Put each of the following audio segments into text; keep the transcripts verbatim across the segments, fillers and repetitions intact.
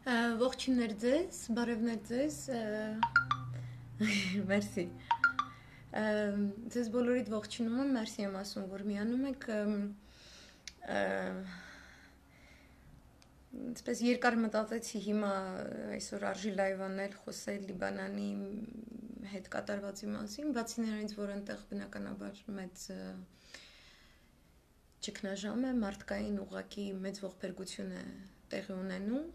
Ողջույններ ձեզ, բարևներ ձեզ, մերսի, ձեզ բոլորիդ ողջունում եմ, մերսի եմ ասում, որ միանում եք, այսպես երկար մտածեցի հիմա այսօր արժի լայվ անել, խոսել Լիբանանի հետ կատարվածի մասին, բացի նրանից, որ այնտեղ բնականաբար մեծ ճգնաժամ է, մարդկային ուղղակի մեծ ողբերգություն է տեղի ունենում,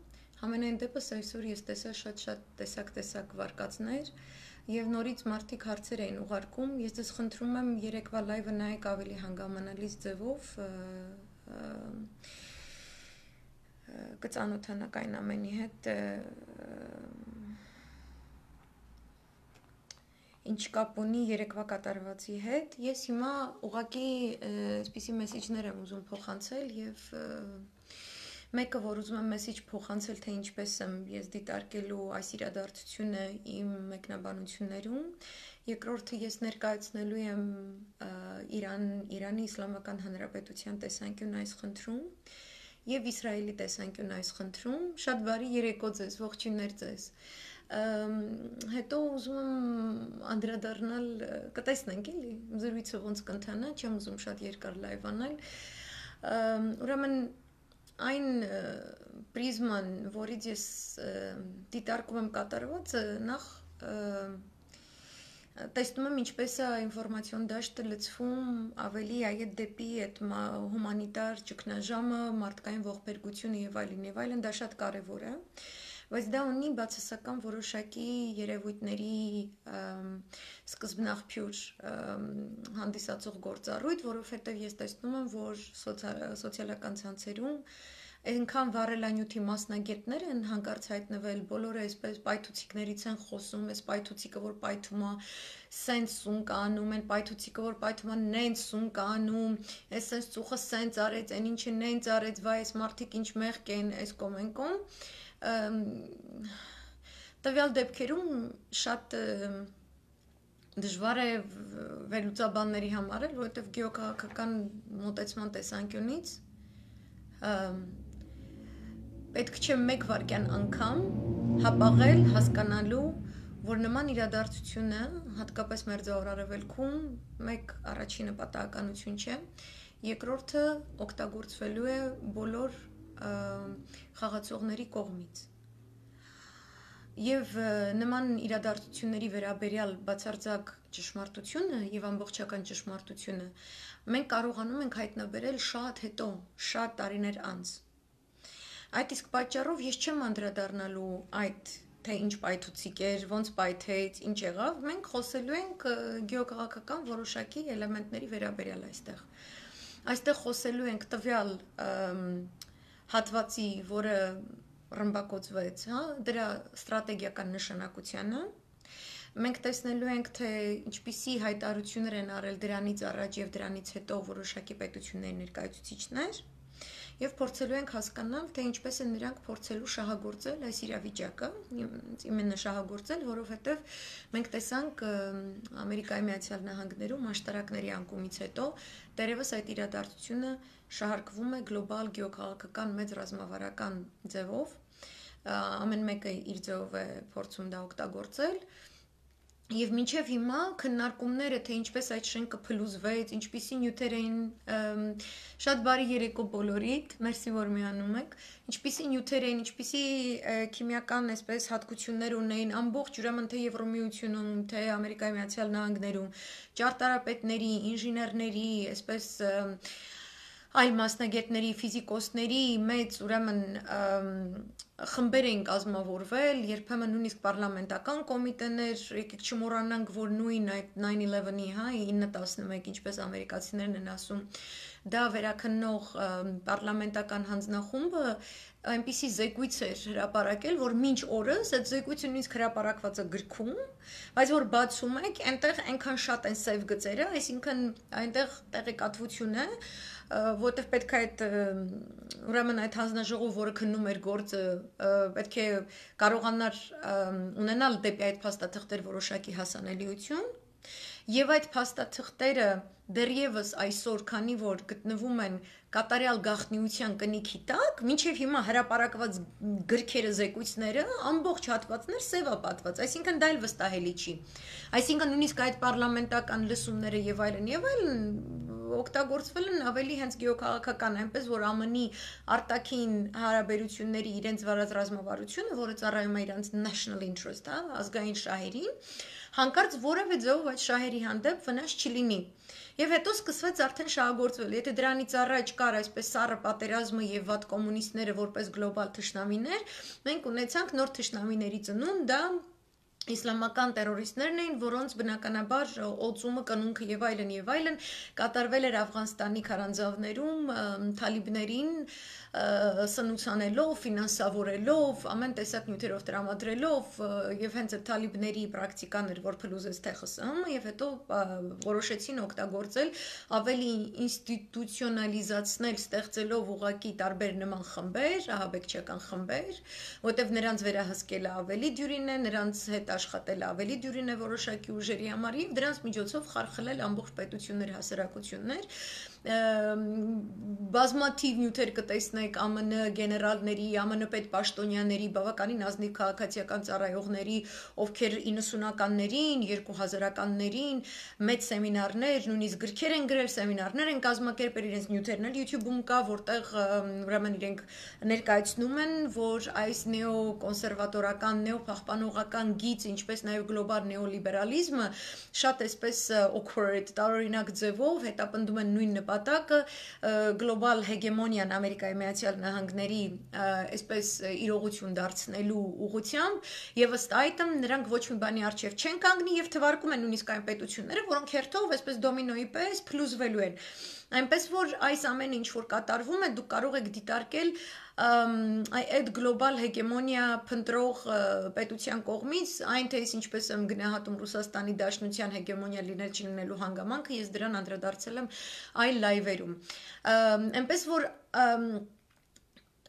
Համենայն դեպս այսօր ես տեսա շատ-շատ տեսակ-տեսակ վարկածներ և նորից մարդիկ հարցեր էին ուղարկում, ես ձեզ խնդրում եմ երեկվա լայվը նայեք ավելի հանգամանալից ձևով, կծանոթանաք այն ամենի հետ, ինչ կապ ունի երեկվա կատարվածի հետ, ես հիմա ուղղակի այսպիսի մեսիջներ եմ ուզում փոխանցել և Մեկը, որ ուզում եմ մեսիջ փոխանցել, թե ինչպես եմ ես դիտարկելու այս իրադարձությունը իմ մեկնաբանություններում, երկրորդը ես ներկայացնելու եմ Իրան, Իրանի Իսլամական Հանրապետության տեսանկյուն այս խնդրում և Իսրայելի տեսանկյուն այս խնդրում, շատ բարի երեկո ձեզ, ողջույններ ձեզ, հետո ուզում եմ անդրադառնալ, կտեսնենք էլի, զրույցը ոնց կընթանա, չեմ ուզում շատ երկար լայվ անել, ուրեմն Այն պրիզման, որից ես դիտարկում եմ կատարվածը, նախ տեսնում եմ ինչպես է ինֆորմացիոն դաշտը լցվում ավելի այդ դեպի այդ հումանիտար ճգնաժամը, մարդկային ողբերգությունը և այլն և այլն, դա շատ կարևոր է, բայց դա ունի բացասական որոշակի երևույթների սկզբնաղբյուր հանդիսացող գործառույթ, որովհետև ես տեսնում եմ, որ սոցիալական ցանցերում այնքան վառելանյութի մասնագետներ են հանկարծ հայտնվել, բոլորը այսպես պայթուցիկներից են խոսում, այս պայթուցիկը, որ պայթում է, սենց սուն կանում, այն պայթուցիկը, որ պայթում է, նենց սուն կանում, այս սենց ծուխը սենց արեց, այն ինչը նենց արեց, վայ, այս մարդիկ ինչ մեղք են, այս կոմ են կոմ, տվյալ դեպքերում շատ դժվար է վերլուծաբանների համար, որովհետև գեոքաղաքական մոտեցման տեսանկյունից պետք չէ մեկ վայրկյան անգամ հապաղել հասկանալու, որ նման իրադարձությունը, հատկապես Մերձավոր Արևելքում, մեկ առաջինը պատահականություն չէ, երկրորդը օգտագործվելու է բոլոր խաղացողների կողմից։ Եվ նման իրադարձությունների վերաբերյալ բացարձակ ճշմարտությունը և ամբողջական ճշմարտությունը մենք կարողանում ենք հայտնաբերել շատ հետո, շատ տարիներ անց։ Այդ իսկ պատճառով ես չեմ անդրադառնալու այդ, թե ինչ պայթուցիկ էր, ոնց պայթեց, ինչ եղավ, մենք խոսելու ենք գեոքաղաքական որոշակի էլեմենտների վերաբերյալ այստեղ։ Այստեղ խոսելու ենք տվյալ հատվածի, որը ռմբակոծվեց, դրա ստրատեգիական նշանակությանը, մենք տեսնելու ենք, թե ինչպիսի հայտարարություններ են արել դրանից առաջ և դրանից հետո որոշակի պետությունների ներկայացուցիչներ և փորձելու ենք հասկանալ, թե ինչպես են նրանք փորձելու շահագործել այս իրավիճակը, իմенно շահագործել, որովհետև մենք տեսանք Ամերիկայի Միացյալ Նահանգներում աշտարակների անկումից հետո դեռևս այդ իրադարձությունը շահարկվում է գլոբալ գեոքաղաքական մեծ ռազմավարական ձևով, ամեն մեկը իր ձևով է փորձում դա օգտագործել Եվ մինչև հիմա քննարկումները, թե ինչպես այդ շենքը փլուզվեց, ինչպիսի նյութեր էին, շատ բարի երեկո բոլորիդ, մերսի որ միանում եք, ինչպիսի նյութեր էին, ինչպիսի քիմիական այսպես հատկություններ ունեին, ամբողջ ուրեմն թե Եվրոմիությունում, թե Ամերիկայի Միացյալ Նահանգներում, ճարտարապետների, ինժեներների, այսպես այլ մասնագետների, ֆիզիկոսների մեծ ուրեմն խմբեր էին կազմավորվել, երբեմն նույնիսկ պարլամենտական կոմիտեներ, եկեք չմոռանանք, որ նույն այդ nine eleven-ի, հա, ինը տասնմեկ, ինչպես ամերիկացիներն են ասում, դա վերաքննող պարլամենտական հանձնախումբը այնպիսի զեկույց էր հրապարակել, որ մինչ օրս այդ զեկույցը նույնիսկ հրապարակված է գրքում, բայց որ բացում եք, այնտեղ այնքան շատ են սև գծերը, այսինքն այնտեղ տեղեկատվություն է, որտեղ պետք է այդ ուրեմն այդ հանձնաժողով, որը քննում էր գործը, պետք է կարողանար ունենալ դեպի այդ փաստաթղթեր որոշակի հասանելիություն, եւ այդ փաստաթղթերը դեռևս այսօր, քանի որ գտնվում են կատարյալ գաղտնիության կնիքի տակ, մինչև հիմա հրապարակված գրքերը, զեկույցները, ամբողջ հատվածներ սևա պատված, այսինքն դա էլ վստահելի չի։ Այսինքն նույնիսկ այդ պարլամենտական լսումները եւ այլն եւ այլն օգտագործվել են ավելի հենց գեոքաղաքական, այնպես որ ԱՄՆ-ի արտաքին հարաբերությունների իրենց վարած ռազմավարությունը, որը ծառայում է իրանց national interest, հա, ազգային շահերին, հանկարծ որևէ ձևով այդ շահերի հանդեպ վնաս չլինի։ Եվ հետո սկսվեց արդեն շահագործվել։ Եթե դրանից առաջ կար այսպես սառը պատերազմը եւ վատ կոմունիստները որպես գլոբալ թշնամիներ, մենք ունեցանք նոր թշնամիների ծնունդ, դա իսլամական տերորիստներն էին, որոնց բնականաբար օծումը, կնունքը եւ այլն եւ այլն կատարվել էր Աֆղանստանի քարանձավներում թալիբներին սնուցանելով, ֆինանսավորելով, ամեն տեսակ նյութերով տրամադրելով եւ հենց այդ թալիբների պրակտիկան էր, որ փլուզեց թե ԽՍՀՄ-ը եւ հետո որոշեցին օգտագործել ավելի ինստիտուցիոնալիզացնել, ստեղծելով ուղղակի տարբեր նման խմբեր, ահաբեկչական խմբեր, որտեղ նրանց վերահսկելը ավելի դյուրին է, նրանց հետ աշխատել ավելի դյուրին է որոշակի ուժերի համար եւ դրանց միջոցով խարխլել ամբողջ պետությունների հասարակություններ բազմաթիվ նյութեր կտեսնեք ԱՄՆ գեներալների, ԱՄՆ պետ պաշտոնյաների, բավականին ազնիվ քաղաքացիական ծառայողների, ովքեր իննսունականներին, երկու հազարականներին մեծ սեմինարներ, նույնիսկ գրքեր են գրել, սեմինարներ են կազմակերպել, իրենց նյութերն էլ YouTube-ում կա, որտեղ ուրեմն իրենք ներկայացնում են, որ այս նեոկոնսերվատորական, նեոփախպանողական գիծ, ինչպես նաև գլոբալ նեոլիբերալիզմը շատ այսպես awkward, տարօրինակ ձևով հետապնդում են նույն նպատակը գլոբալ հեգեմոնիան Ամերիկայի Միացյալ Նահանգների այսպես իրողություն դարձնելու ուղղությամբ եւ ըստ այդմ նրանք ոչ մի բանի առջեւ չեն կանգնի եւ թվարկում են նույնիսկ այն պետությունները, որոնք հերթով այսպես դոմինոյի պես փլուզվելու են։ Այնպես որ այս ամենը ինչ որ կատարվում է, դուք կարող եք դիտարկել այդ գլոբալ հեգեմոնիա փնտրող պետության կողմից, այն թե ինչպես եմ գնահատում Ռուսաստանի Դաշնության հեգեմոնիա լինել չլինելու հանգամանքը, ես դրան անդրադարձել եմ այլ լայվերում։ Այնպես որ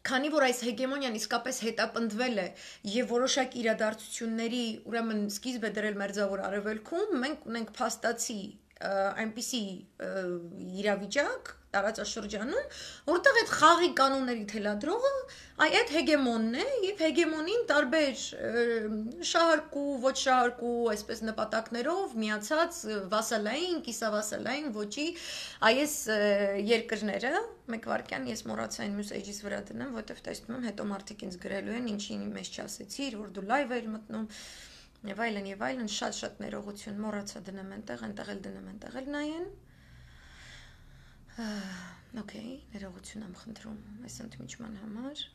քանի որ այս հեգեմոնիան իսկապես հետապնդվել է եւ որոշակի իրադարձությունների, ուրեմն սկիզբ է դրել Մերձավոր Արևելքում, մենք ունենք փաստացի այնպիսի իրավիճակ տարածաշրջանում, որտեղ այդ խաղի կանոնների թելադրողը այդ հեգեմոնն է եւ հեգեմոնին տարբեր շահարկու, ոչ շահարկու, այսպես նպատակներով միացած վասալային, կիսավասալային ոճի այս երկրները, մեկ վարքյան ես մոռացա այն մյուս էջից վրա դնեմ, որովհետեւ տեսնում եմ հետո մարդիկ ինձ գրելու են, ինչին մեզ չասեցիր, որ դու լայվ ես մտնում եւ այլն եւ այլն, շատ-շատ ներողություն, մոռացա դնեմ այնտեղ, այնտեղ էլ դնեմ, այնտեղ էլ նայեն։ Okay, ներողություն եմ խնդրում այս ընդմիջման համար։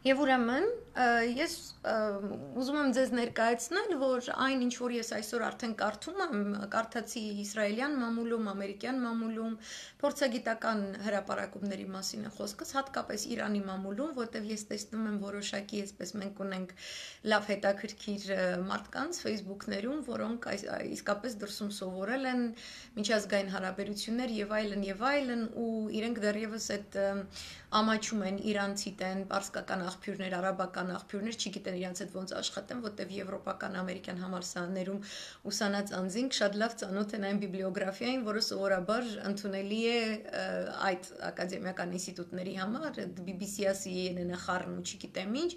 Եվ ուրեմն ես ուզում եմ ձեզ ներկայացնել, որ այն ինչ որ ես այսօր արդեն կարդում եմ, կարդացի իսրայելյան մամուլում, ամերիկյան մամուլում, փորձագիտական հրապարակումների մասին է խոսքս, հատկապես Իրանի մամուլում, որտեղ ես տեսնում եմ որոշակի, այսպես մենք ունենք լավ հետաքրքիր մարդկանց Facebook-ներում, որոնք իսկապես դրսում սովորել են միջազգային հարաբերություններ եւ այլն եւ այլն ու իրենք դեռևս այդ ամաչում են իրանցի տեն, պարսկական աղբյուրներ, արաբական աղբյուրներ, չգիտեն իրանց հետ ոնց աշխատեն, որտեղ եվրոպական, ամերիկյան համալսարաններում ուսանած անձինք շատ լավ ծանոթ են այն բիբլիոգրաֆիային, որը սովորաբար ընդունելի է այդ ակադեմիական ինստիտուտների համար, բի բի սի-ը, սի էն էն-ը խառն ու չգիտեմ ինչ,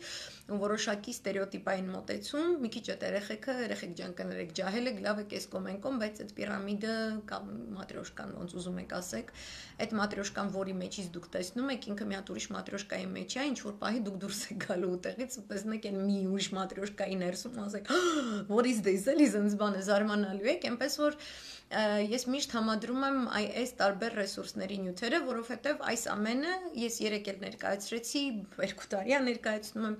ու որոշակի ստերեոտիպային մոտեցում, մի քիչ այդ երեխեքը, երեխեք ջան կներեք, ջահել եք, լավ եք էս կոմենկոմ, բայց այդ պիրամիդը կամ մատրյոշկան, ոնց ուզում եք ասեք, այդ մատրյոշկան, որի մեջից դուք տեսնում եք, ինքը մի հատ ուրիշ մատրյոշկայի մեջ է, ինչ որ պահի դուք դուրս եք գալու ուտեղից ու տեսնեք այն մի ուրիշ մատրյոշկայի ներսում, ասեք, what is this, էլի զնց բանը զարմանալու եք, այնպես որ ես միշտ համադրում եմ այս տարբեր ռեսուրսների նյութերը, որովհետև այս ամենը ես երեք էլ ներկայացրեցի, երկու տարի է ներկայացնում եմ,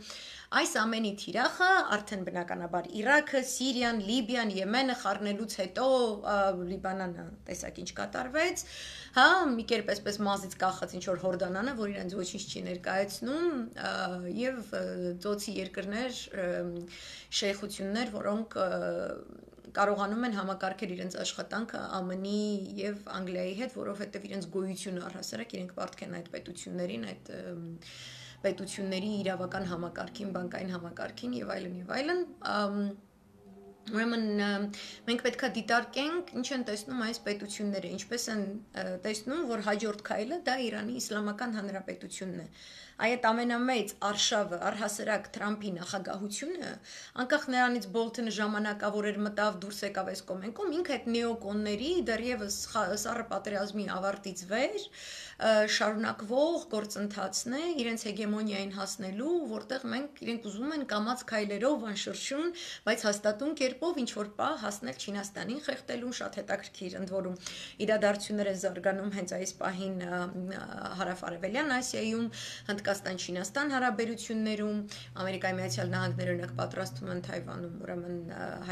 այս ամենի թիրախը արդեն բնականաբար Իրաքը, Սիրիան, Լիբիան, Եմենը խառնելուց հետո Լիբանանը տեսակ ինչ կատարվեց, հա, մի կերպ այսպես մազից կախած ինչ որ հորդանանը, որ իրենց ոչինչ չի ներկայացնում, եւ ծոցի երկրներ, շեյխություններ, որոնք կարողանում են համակարգել իրենց աշխատանքը ԱՄՆ-ի եւ Անգլիայի հետ, որովհետեւ իրենց գոյությունը առհասարակ իրենք պարտք են այդ պետություններին, այդ պետությունների իրավական համակարգին, բանկային համակարգին եւ այլն եւ այլն, ուրեմն մենք պետք է դիտարկենք ինչ են տեսնում այս պետությունները, ինչպես են տեսնում, որ հաջորդ քայլը դա Իրանի Իսլամական Հանրապետությունն է։ Այդ ամենամեծ արշավը, առհասարակ Թրամփի նախագահությունը, անկախ նրանից Բոլթոնը ժամանակավոր մտավ դուրս եկավ այս կոմենկում, ինքը այդ նեոկոնների դեռևս սառը պատերազմի ավարտից վեր շարունակվող գործընթացն է իրենց հեգեմոնիային հասնելու, որտեղ մենք իրենք ուզում են կամաց քայլերով անշրջուն, բայց հաստատուն կերպով ինչ որ պահ հասնել Չինաստանին խեղդելու, շատ հետաքրքիր ընդ որում իրադարձություններ են զարգանում հենց այս պահին հարավ-արևելյան Ասիայում, Հնդկաստան-Չինաստան հարաբերություններում, Ամերիկայի Միացյալ Նահանգները օրինակ պատրաստվում են Թայվանում, ուրեմն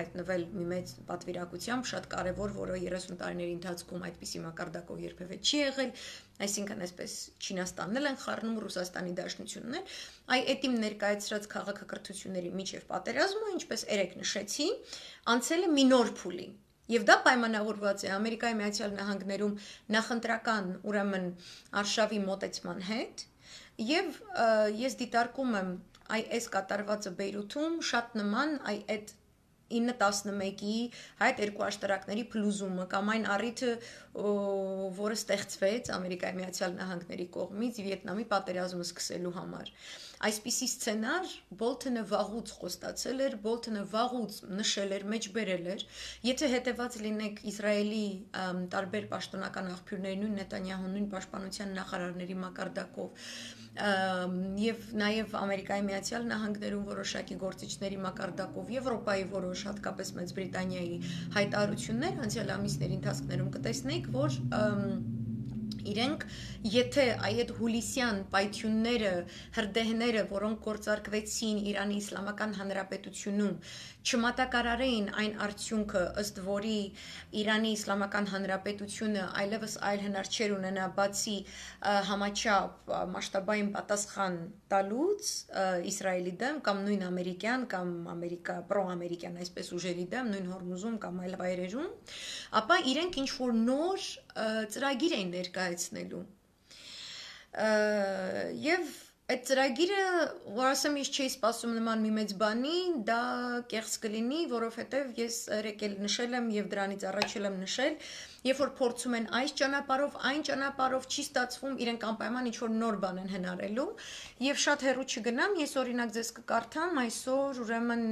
հայտնվել մի մեծ պատվիրակությամբ, շատ կարևոր, որը երեսուն տարիների ընթացքում այդպիսի մակարդակով երբևէ չի եղել, այսինքն այսպես Չինաստանն էլ են խառնում Ռուսաստանի Դաշնությունն էլ, այ այդ իմ ներկայացրած քաղաքակրթությունների միջև պատերազմը, ինչպես երեք նշեցի, անցել է մի նոր փուլի։ Եվ դա պայմանավորված է Ամերիկայի Միացյալ Նահանգներում նախընտրական, ուրեմն արշավի մոտեցման հետ, եւ ես դիտարկում եմ այս կատարվածը Բեյրութում շատ նման այդ ինը տասնմեկի այդ երկու աշտարակների փլուզումը կամ այն առիթը, որը ստեղծվեց Ամերիկայի Միացյալ Նահանգների կողմից Վիետնամի պատերազմը սկսելու համար։ Այսպիսի սցենար Բոլթոնը վաղուց խոստացել էր, Բոլթոնը վաղուց նշել էր, մեջբերել էր, եթե հետևած լինեք Իսրայելի տարբեր պաշտոնական աղբյուրների, նույն Նետանյահու, նույն պաշտպանության նախարարների մակարդակով եւ նաեւ Ամերիկայի Միացյալ Նահանգներում որոշակի գործիչների մակարդակով, Եվրոպայի որոշ, հատկապես Մեծ Բրիտանիայի հայտարարություններ անցյալ ամիսների ընթացքում կտեսնեք, որ իրենք, եթե այդ հուլիսյան պայթյունները, հրդեհները, որոնք գործարկվեցին Իրանի Իսլամական Հանրապետությունում, չմատակարարեին այն արդյունքը, ըստ որի Իրանի Իսլամական Հանրապետությունը այլևս այլ հնար չէր ունենա բացի համաչափ մասշտաբային պատասխան տալուց Իսրայելի դեմ կամ նույն ամերիկյան կամ ամերիկա պրոամերիկյան այսպես ուժերի դեմ, նույն Հորմուզում կամ այլ վայրերում, ապա իրենք ինչ որ նոր ծրագիր էին ներկայացնելու։ Եվ այդ ծրագիրը, որ ասեմ, ես չէի սպասում նման մի մեծ բանի, դա կեղծ կլինի, որովհետև ես երեք էլ նշել եմ եւ դրանից առաջ եմ նշել, երբ որ փորձում են այս ճանապարհով, այն ճանապարհով չի ստացվում, իրենք անպայման ինչ որ նոր բան են հնարելու, եւ շատ հեռու չգնամ, ես օրինակ ձեզ կկարդամ այսօր ուրեմն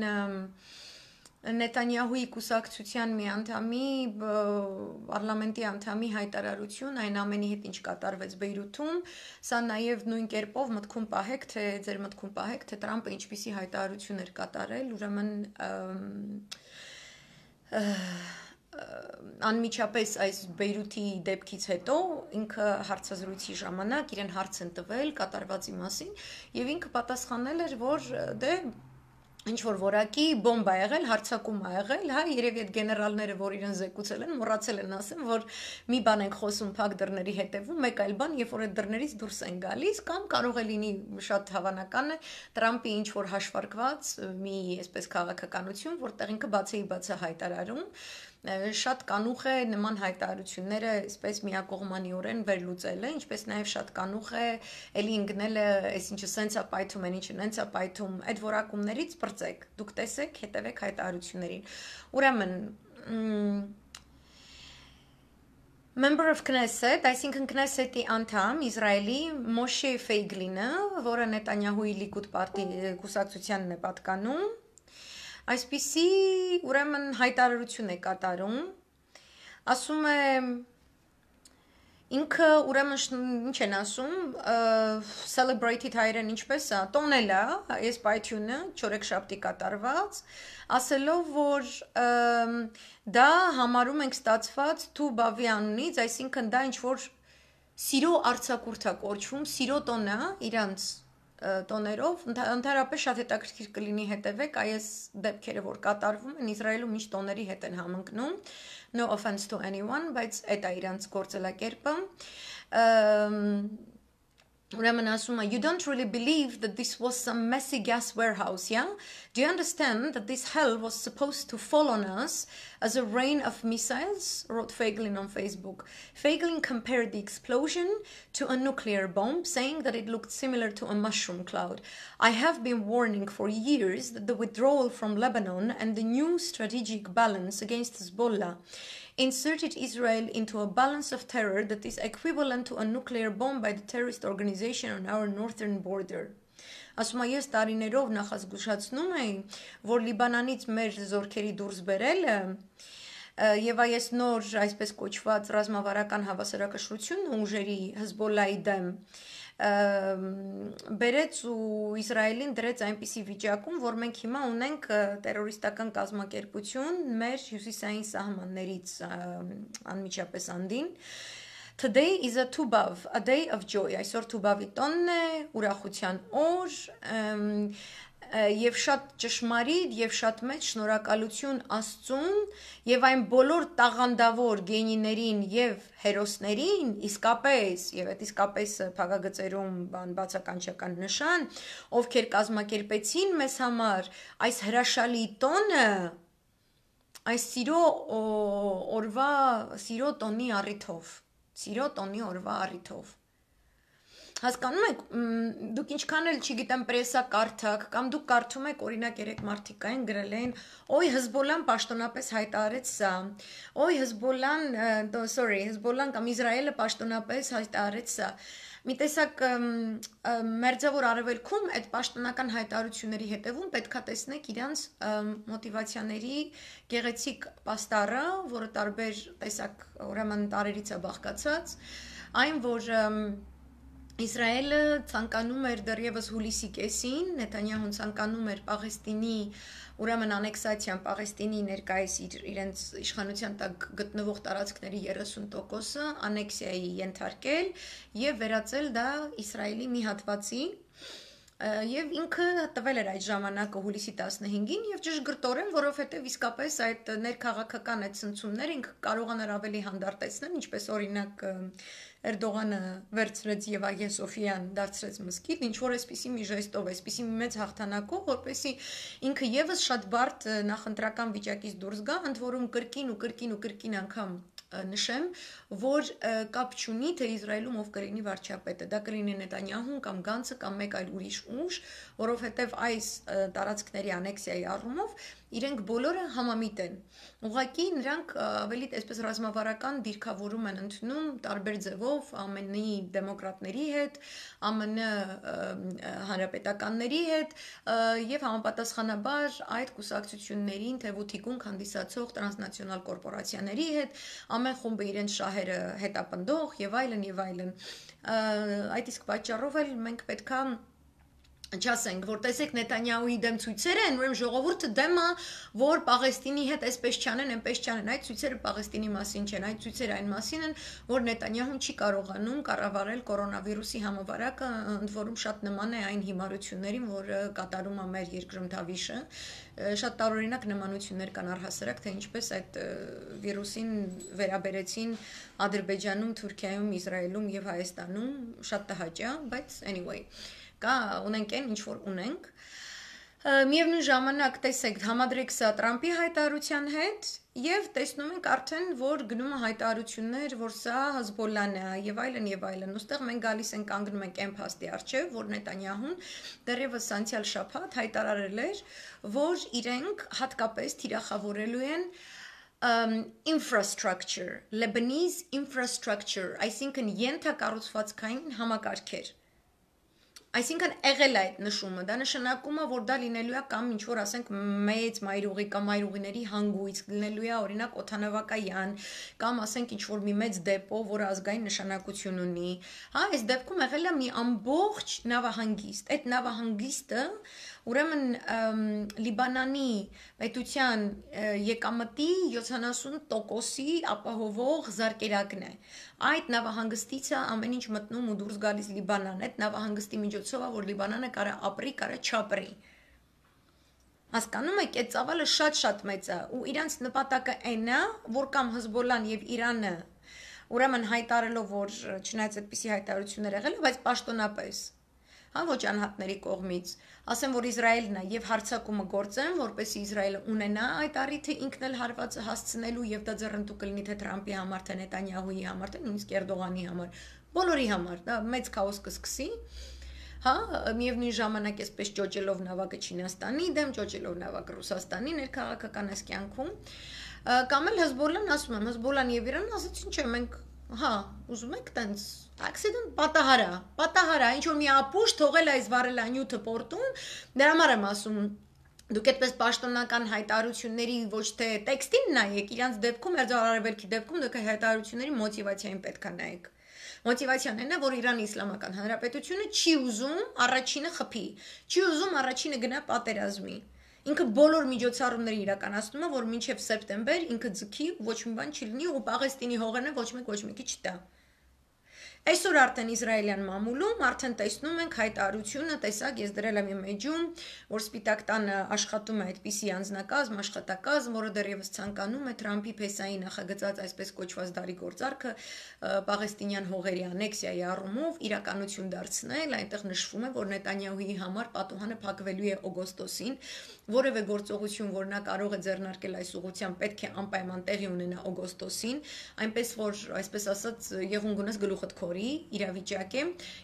Նետանյահուի կուսակցության մի անդամի, պարլամենտի անդամի հայտարարություն այն ամենի հետ ինչ կատարվեց Բեյրութում, սա նաև նույն կերպով մտքում պահեք, թե ձեր մտքում պահեք, թե Տրամպը ինչպիսի հայտարարություն էր կատարել, ուրեմն անմիջապես այս Բեյրութի դեպքից հետո ինքը հարցազրույցի ժամանակ իրեն հարց են տվել կատարվածի մասին եւ ինքը պատասխանել էր, որ դե ինչ որ որակի բոմբ ա եղել, հարցակում ա եղել, հա, երևի այդ գեներալները, որ իրեն զեկուցել են, մոռացել են ասեմ, որ մի բան ենք խոսում փակ դռների հետևում, մեկ այլ բան, երբ որ այդ դռներից դուրս են գալիս, կամ կարող է լինի շատ հավանական է Տրամպի ինչ որ հաշվարկված մի այսպես քաղաքականություն, որտեղ ինքը բացեի բացը հայտարարում, շատ կանուխ է նման հայտարարությունները այսպես միակողմանիորեն վերլուծելը, ինչպես նաև շատ կանուխ է էլի ընկնելը, այսինչը սենց է պայթում, են ինչը նենց է պայթում, այդ որակումներից բրծեք, դուք տեսեք, հետևեք հայտարարություններին։ Ուրեմն Member of Knesset, այսինքն Knesset-ի անդամ Իսրայելի Մոշե Ֆեյգլինը, որը Նետանյահուի Լիկուդ պարտի կուսակցությանն է պատկանում, այսպիսի ուրեմն հայտարարություն է կատարում, ասում է ինքը ուրեմն ինչ են ասում, celebrated հայերեն ինչպես է, տոնել է այս պայթյունը չորեքշաբթի կատարված, ասելով, որ դա համարում ենք ստացված թու բավի անունից, այսինքն դա ինչ որ սիրո արձակուրդ է կոչվում, սիրո տոնը իրանց տոներով, ընդհանրապես շատ հետաքրքիր կլինի հետևեք այս դեպքերը, որ կատարվում են Իսրայելում ինչ տոների հետ են համընկնում, no offense to anyone, բայց այդ է իրանց գործելակերպը, Ուրեմն ասում է, you don't really believe that this was some messy gas warehouse, yeah? Do you understand that this hell was supposed to fall on us as a rain of missiles? Wrote Feiglin on Facebook. Feiglin compared the explosion to a nuclear bomb, saying that it looked similar to a mushroom cloud. I have been warning for years that the withdrawal from Lebanon and the new strategic balance against Hezbollah inserted Israel into a balance of terror that is equivalent to a nuclear bomb by the terrorist organization on our northern border. Ասում եմ, ես տարիներով նախազգուշացնում էի, որ Լիբանանից մեր զորքերի դուրս բերելը եւ այս նոր այսպես կոչված ռազմավարական հավասարակշռությունն ուժերի Հեզբոլլայի դեմ բերեց ու Իսրայելին դրեց այնպիսի վիճակում, որ մենք հիմա ունենք տերորիստական կազմակերպություն մեր հյուսիսային սահմաններից անմիջապես անդին. Today is a Tubav, a day of joy. Այսօր Թուբավի տոնն է, ուրախության օր, եւ շատ ճշմարիտ եւ շատ մեծ շնորհակալություն Աստծուն եւ այն բոլոր տաղանդավոր գենիներին եւ հերոսներին, իսկապես եւ այդ իսկապես փակագծերում բան բացականչական նշան, ովքեր կազմակերպեցին մեզ համար այս հրաշալի տոնը, այս սիրո օրվա սիրո տոնի առիթով, սիրո տոնի օրվա առիթով. Հասկանում եք, դուք ինչքան էլ չգիտեմ պրեսա կարդաք, կամ դուք կարդում եք օրինակ երեք մարդիկ կային գրել էին, օй Հեզբոլլան պաշտոնապես հայտարարեց սա, օй Հեզբոլլան, sorry, Հեզբոլլան կամ Իսրայելը պաշտոնապես հայտարարեց սա. Մի տեսակ մերձավոր արևելքում այդ պաշտոնական հայտարարությունների հետևում պետքա տեսնեք իրանց մոտիվացիաների գեղեցիկ պաստառը, որը տարբեր տեսակ ուրեմն տարերից է բաղկացած, այն որ Իսրայելը ցանկանում էր դեռևս հուլիսի կեսին, Նեթանյահուն ցանկանում էր Պաղեստինի, ուրեմն անեքսացիան Պաղեստինի ներկայիս իր իրենց իշխանության տակ գտնվող տարածքների երեսուն տոկոսը անեքսիայի ենթարկել եւ վերածել դա Իսրայելի մի հատվածի եւ ինքը տվել էր այդ ժամանակը հուլիսի տասնհինգին եւ ճշգրտորեն, որովհետեւ իսկապես այդ ներքաղաքական այդ ցնցումները ինքը կարողանար ավելի հանդարտեցնել, ինչպես օրինակ Էրդողանը վերցրեց եւ Ագիա Սոֆիան դարձրեց մզկիթ, ինչ որ այսպիսի մի ժեստով, այսպիսի մի մեծ հաղթանակով, որպեսզի ինքը եւս շատ բարդ նախընտրական վիճակից դուրս գա, ընդ որում կրկին ու կրկին ու կրկին անգամ նշեմ, որ կապ չունի, թե Իսրայելում ով կլինի վարչապետը, դա կլինի Նետանյահուն կամ Գանցը կամ մեկ այլ ուրիշ ուժ, որովհետև այս տարածքների անեքսիայի առումով իրենք բոլորը համամիտ են։ Ուղղակի նրանք ավելի այսպես ռազմավարական դիրքավորում են ընդունում տարբեր ձևով ԱՄՆ-ի դեմոկրատների հետ, ԱՄՆ հանրապետականների հետ եւ համապատասխանաբար այդ կուսակցություններին թեւութիկուն հանդիսացող տրանսնացիոնալ կորպորացիաների հետ, ամեն խումբը իրենց շահերը հետապնդող եւ այլն եւ այլն։ Այդ իսկ պատճառով էլ մենք պետքա չասենք, որ տեսեք Նետանյահուի դեմ ցույցեր են, ուրեմն ժողովուրդը դեմ է, որ Պաղեստինի հետ այսպես չանեն, այնպես չանեն, այդ ցույցերը Պաղեստինի մասին չեն, այդ ցույցերը այն մասին են, որ Նետանյահուն չի կարողանում կառավարել կորոնավիրուսի համավարակը, ընդ որում շատ նման է այն հիմարություններին, որ կատարում է մեր երկրում Դավիշը, շատ տարօրինակ նմանություններ կան առհասարակ, թե ինչպես այդ վիրուսին վերաբերեցին Ադրբեջանում, Թուրքիայում, Իսրայելում եւ Հայաստանում, շատ տհաճ է, բայց anyway կա ունենք այն ինչ որ ունենք միևնույն ժամանակ տեսեք համադրեք սա Տրամպի հայտարարության հետ եւ տեսնում ենք արդեն որ գնում է հայտարարություններ որ սա Հեզբոլլան է եւ այլն եւ այլն ուստեղ մենք գալիս ենք կանգնում ենք այն փաստի առջեւ որ Նետանյահուն դեռևս անցյալ շաբաթ հայտարարել էր որ իրենք հատկապես թիրախավորելու են Um, infrastructure, Lebanese infrastructure, այսինքն ենթակառուցվածքային համակարգեր Այսինքն եղել է այդ նշումը, դա նշանակում է, որ դա լինելու է կամ ինչ որ ասենք մեծ մայրուղի կամ մայրուղիների հանգույց, լինելու է օրինակ օդանավակայան, կամ ասենք ինչ որ մի մեծ դեպո, որը ազգային նշանակություն ունի։ Հա, այս դեպքում եղել է մի ամբողջ նավահանգիստ։ Այդ նավահանգիստը ուրեմն Լիբանանի պետության եկամտի յոթանասուն տոկոսի ապահովող զարկերակն է։ Այդ նավահանգստից է ամեն ինչ մտնում ու դուրս գալիս Լիբանան։ Այդ նավահանգստի միջոցով է, որ Լիբանանը կարա ապրի, կարա չապրի։ Հասկանում եք, այդ ծավալը շատ-շատ մեծ է ու իրանց նպատակը այն է, որ կամ Հեզբոլլան եւ Իրանը ուրեմն հայտարելով, որ չնայած այդպիսի հայտարարություններ եղել, բայց պաշտոնապես, հա, ոչ անհատների կողմից, ասեմ, որ Իսրայելն է եւ հարձակումը գործեն, որպեսզի Իսրայելը ունենա այդ առիթը ինքն էլ հարվածը հասցնելու եւ դա ձեռնտու կլինի թե Թրամփի համար, թե Նետանյահուի համար, թե նույնիսկ Էրդողանի համար, բոլորի համար, դա մեծ քաոս կսկսի։ Հա, միևնույն ժամանակ այսպես ճոճելով նավակը Չինաստանի դեմ, ճոճելով նավակը Ռուսաստանի ներքաղաքական այս կյանքում, կամ էլ Հեզբոլլան ասում եմ, Հեզբոլլան եւ Իրանը ասացին, չէ, մենք, հա, ուզում եք տենց accident պատահարա, պատահարա, ինչ որ մի ապուշ թողել այս վարելանյութը պորտում, դրա համար եմ ասում, դուք այդպես պաշտոնական հայտարարությունների ոչ թե տեքստին նայեք, իրանց դեպքում, Մերձարարևելքի դեպքում դուք հայտարարությունների մոտիվացիային պետք է նայեք։ Մոտիվացիան այն է, որ Իրանի Իսլամական Հանրապետությունը չի ուզում առաջինը խփի, չի ուզում առաջինը գնա պատերազմի։ Ինքը բոլոր միջոցառումները իրականացնում է, որ մինչև սեպտեմբեր ինքը ձգի, ոչ մի բան չի լինի ու Պաղեստինի հողերն ոչ մեկ ոչ մեկի չտա։ Այսօր արդեն Իսրայելյան մամուլում արդեն տեսնում ենք հայտարարությունը, տեսակ, ես դրել եմ իմ էջում, որ Սպիտակ տանը աշխատում է այդպիսի անձնակազմ, աշխատակազմ, որը դեռևս ցանկանում է Թրամփի փեսայի նախագծած այսպես կոչված դարի գործարքը Պաղեստինյան հողերի անեքսիայի առումով իրականություն դարձնել, այնտեղ նշվում է, որ Նետանյահուի համար պատուհանը փակվելու է օգոստոսին, որևէ գործողություն, որ նա կարող է ձեռնարկել այս ուղղությամբ, պետք է անպայման տեղի ունենա օգոստոսին, այնպես որ այսպես ասած եղուն գունես գլուխդ քորի իրավիճակ է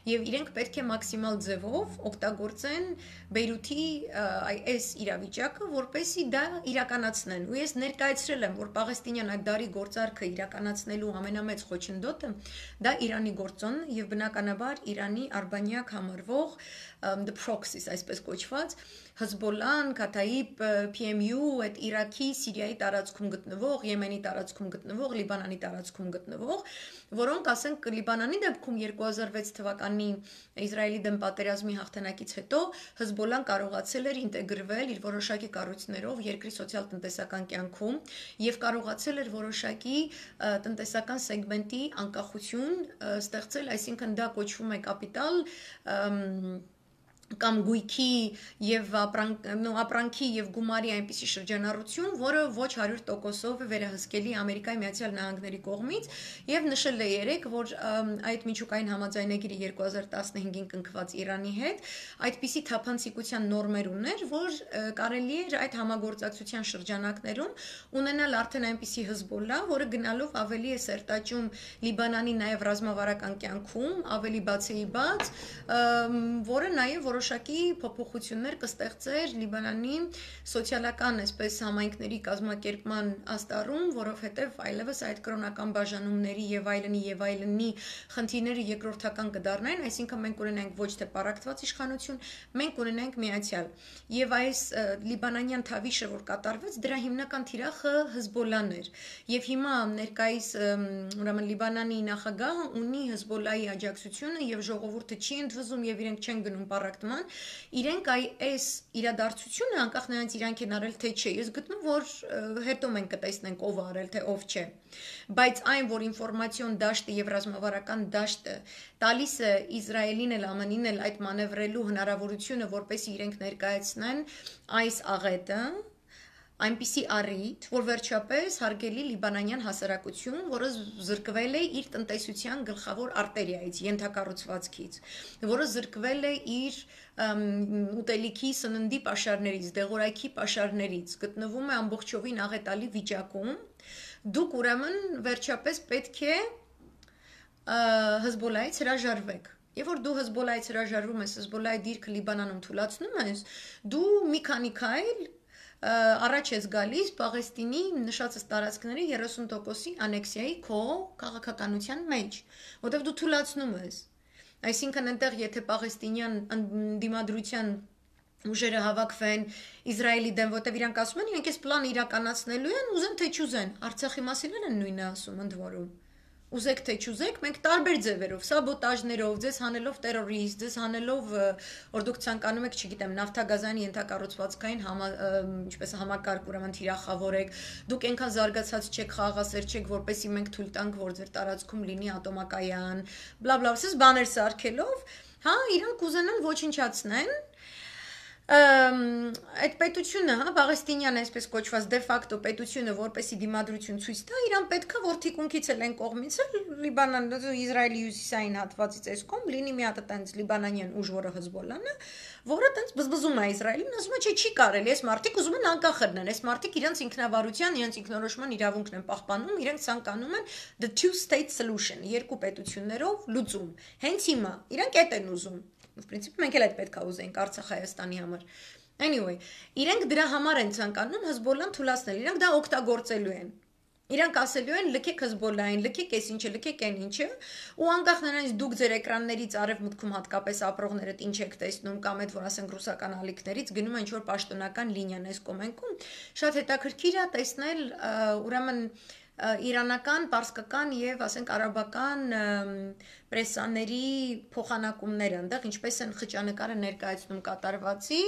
եւ իրենք պետք է մաքսիմալ ձևով օգտագործեն Բեյրութի այս իրավիճակը, որպեսզի դա իրականացնեն։ Ու ես ներկայացրել եմ, որ Պաղեստինյան այդ դարի գործարքը իրականացնելու ամենամեծ խոչընդոտը դա Իրանի գործոնն է եւ բնականաբար Իրանի արբանյակ համարվող the proxies, այսպես կոչված, Հեզբոլլան, Քաթայիբ, P M U, այդ Իրաքի, Սիրիայի տարածքում գտնվող, Եմենի տարածքում գտնվող, Լիբանանի տարածքում գտնվող, որոնք ասենք Լիբանանի դեպքում երկու հազար վեց թվականի Իսրայելի դեմ պատերազմի հաղթանակից հետո Հեզբոլլան կարողացել էր ինտեգրվել իր որոշակի կառույցներով երկրի սոցիալ-տնտեսական կյանքում եւ կարողացել էր որոշակի տնտեսական սեգմենտի անկախություն ստեղծել, այսինքն դա կոչվում է կապիտալ կամ գույքի եւ ապրանքի եւ գումարի այնպիսի շրջանառություն, որը ոչ հարյուր տոկոսով է վերահսկելի Ամերիկայի Միացյալ Նահանգների կողմից եւ նշել է երեք, որ այդ միջուկային համաձայնագիրը երկու հազար տասնհինգին կնքված Իրանի հետ այդպիսի թափանցիկության նորմեր ուներ, որ կարելի էր այդ համագործակցության շրջանակներում ունենալ արդեն այնպիսի Հեզբոլլա, որը գնալով ավելի է սերտաճում Լիբանանի նաեւ ռազմավարական կյանքում, ավելի բացեիբաց, որը նաեւ որոշակի փոփոխություններ կստեղծեր Լիբանանի սոցիալական այսպես համայնքների կազմակերպման աստառում, որովհետև այլևս այդ կրոնական բաժանումների եւ այլնի եւ այլնի խնդիրները երկրորդական կդառնային, այսինքն մենք ունենանք ոչ թե պարակտված իշխանություն, մենք ունենանք միացյալ։ Եվ այս լիբանանյան թավիշը, որ կատարվեց, դրա հիմնական թիրախը Հեզբոլլան էր։ Եվ հիմա ներկայիս ուրեմն Լիբանանի նախագահը ունի Հեզբոլլայի աջակցությունը եւ ժողովուրդը չի ընդվզում եւ իրենք չեն գնում պարակտման, իրենք այս իրադարձությունը անկախ նրանից իրանք են արել թե չէ, ես գտնում որ հետո մենք կտեսնենք ով արել թե ով չէ, բայց այն որ ինֆորմացիոն դաշտը եւ ռազմավարական դաշտը տալիս է Իսրայելին էլ ԱՄՆ-ին էլ այդ մանևրելու հնարավորությունը, որպեսզի իրենք ներկայացնեն այս աղետը, այնպիսի առիթ, որ վերջապես հարգելի լիբանանյան հասարակություն, որը զրկվել է իր տնտեսության գլխավոր արտերիայից, ենթակառուցվածքից, որը զրկվել է իր ուտելիքի սննդի պաշարներից, դեղորայքի պաշարներից, գտնվում է ամբողջովին աղետալի վիճակում, դուք ուրեմն վերջապես պետք է Հեզբոլլայից հրաժարվեք։ Եվ որ դու Հեզբոլլայից հրաժարվում ես, Հեզբոլլայի դիրքը Լիբանանում թուլացնում ես, դու մի քանի քայլ առաջ ես գալիս Պաղեստինի նշածս տարածքների երեսուն տոկոսի անեքսիայի քո քաղաքականության մեջ, որտեղ դու թուլացնում ես։ Այսինքն այնտեղ եթե պաղեստինյան դիմադրության ուժերը հավաքվեն Իսրայելի դեմ, որտեղ իրանք ասում են, իրենք այս պլանը իրականացնելու են, ուզեն թե չուզեն, Արցախի մասին են նույնը ասում ընդ որում։ Ուզեք թե չուզեք, մենք տարբեր ձևերով, սաբոտաժներով, ձեզ հանելով տերորիստ, ձեզ հանելով, որ դուք ցանկանում եք, չգիտեմ, նավթագազային ենթակառուցվածքային համա, ինչպես համակարգ ուրեմն թիրախավորեք, դուք այնքան զարգացած չեք, խաղաղասեր չեք, որպեսզի մենք թույլ տանք, որ ձեր տարածքում լինի ատոմակայան, բլա բլա, ասես բաներ սարքելով, հա, իրանք կուզենան ոչնչացնեն Այդ պետությունը, հա, Պաղեստինյան այսպես կոչված դե ֆակտո պետությունը, որպեսի դիմադրություն ցույց տա, իրան պետքա որ թիկունքից էլ են կողմից էլ Լիբանան, Իսրայելի հյուսիսային հատվածից այս կողմ լինի մի հատ այտենց լիբանանյան ուժ, որը Հեզբոլլան է, որը այտենց բզբզում է Իսրայելին, ասում է, չէ, չի կարելի, այս մարդիկ ուզում են անկախ լինեն, այս մարդիկ իրենց ինքնավարության, իրենց ինքնորոշման իրավունքն են պահպանում, իրենք ցանկանում են the two state solution, երկու պետություններով լուծում։ Հենց հիմա իրանք այդ են ուզում։ В принципе, մենք էլ այդ պետք է ուզենք Արցախ Հայաստանի համար։ Anyway, իրենք դրա համար են ցանկանում Հեզբոլլան թույլատնել, իրենք դա օգտագործելու են։ Իրանք ասելու են լքեք Հեզբոլլային, լքեք այս ինչը, լքեք այն ինչը, ու անկախ նրանից դուք ձեր էկրաններից արևմուտքում հատկապես ապրողներդ ինչ եք տեսնում կամ այդ որ ասենք ռուսական ալիքներից գնում են ինչ որ պաշտոնական լինիան այս կոմենքում, շատ հետաքրքիր է տեսնել ուրեմն իրանական, պարսկական եւ ասենք արաբական պրեսաների փոխանակումները այնտեղ ինչպես են խճանկարը ներկայացնում կատարվածի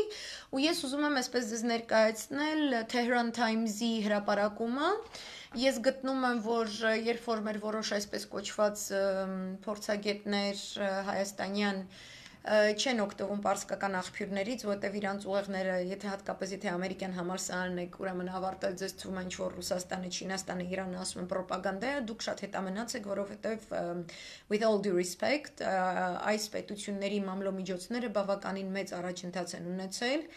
ու ես ուզում եմ այսպես ձեզ ներկայացնել Tehran Times-ի հրապարակումը ես գտնում եմ որ երբ որ մեր որոշ այսպես կոչված փորձագետներ հայաստանյան չեն օգտվում պարսկական աղբյուրներից, որտեղ իրանց ուղեղները, եթե հատկապես եթե ամերիկյան համալսարանն եք, ուրեմն ավարտել ձեզ թվում է ինչ որ Ռուսաստանը, Չինաստանը, Իրանը ասում են ռոպագանդա է, դուք շատ հետամնաց եք, որովհետև with all due respect, այս պետությունների մամլոմիջոցները բավականին մեծ առաջընթաց են ունեցել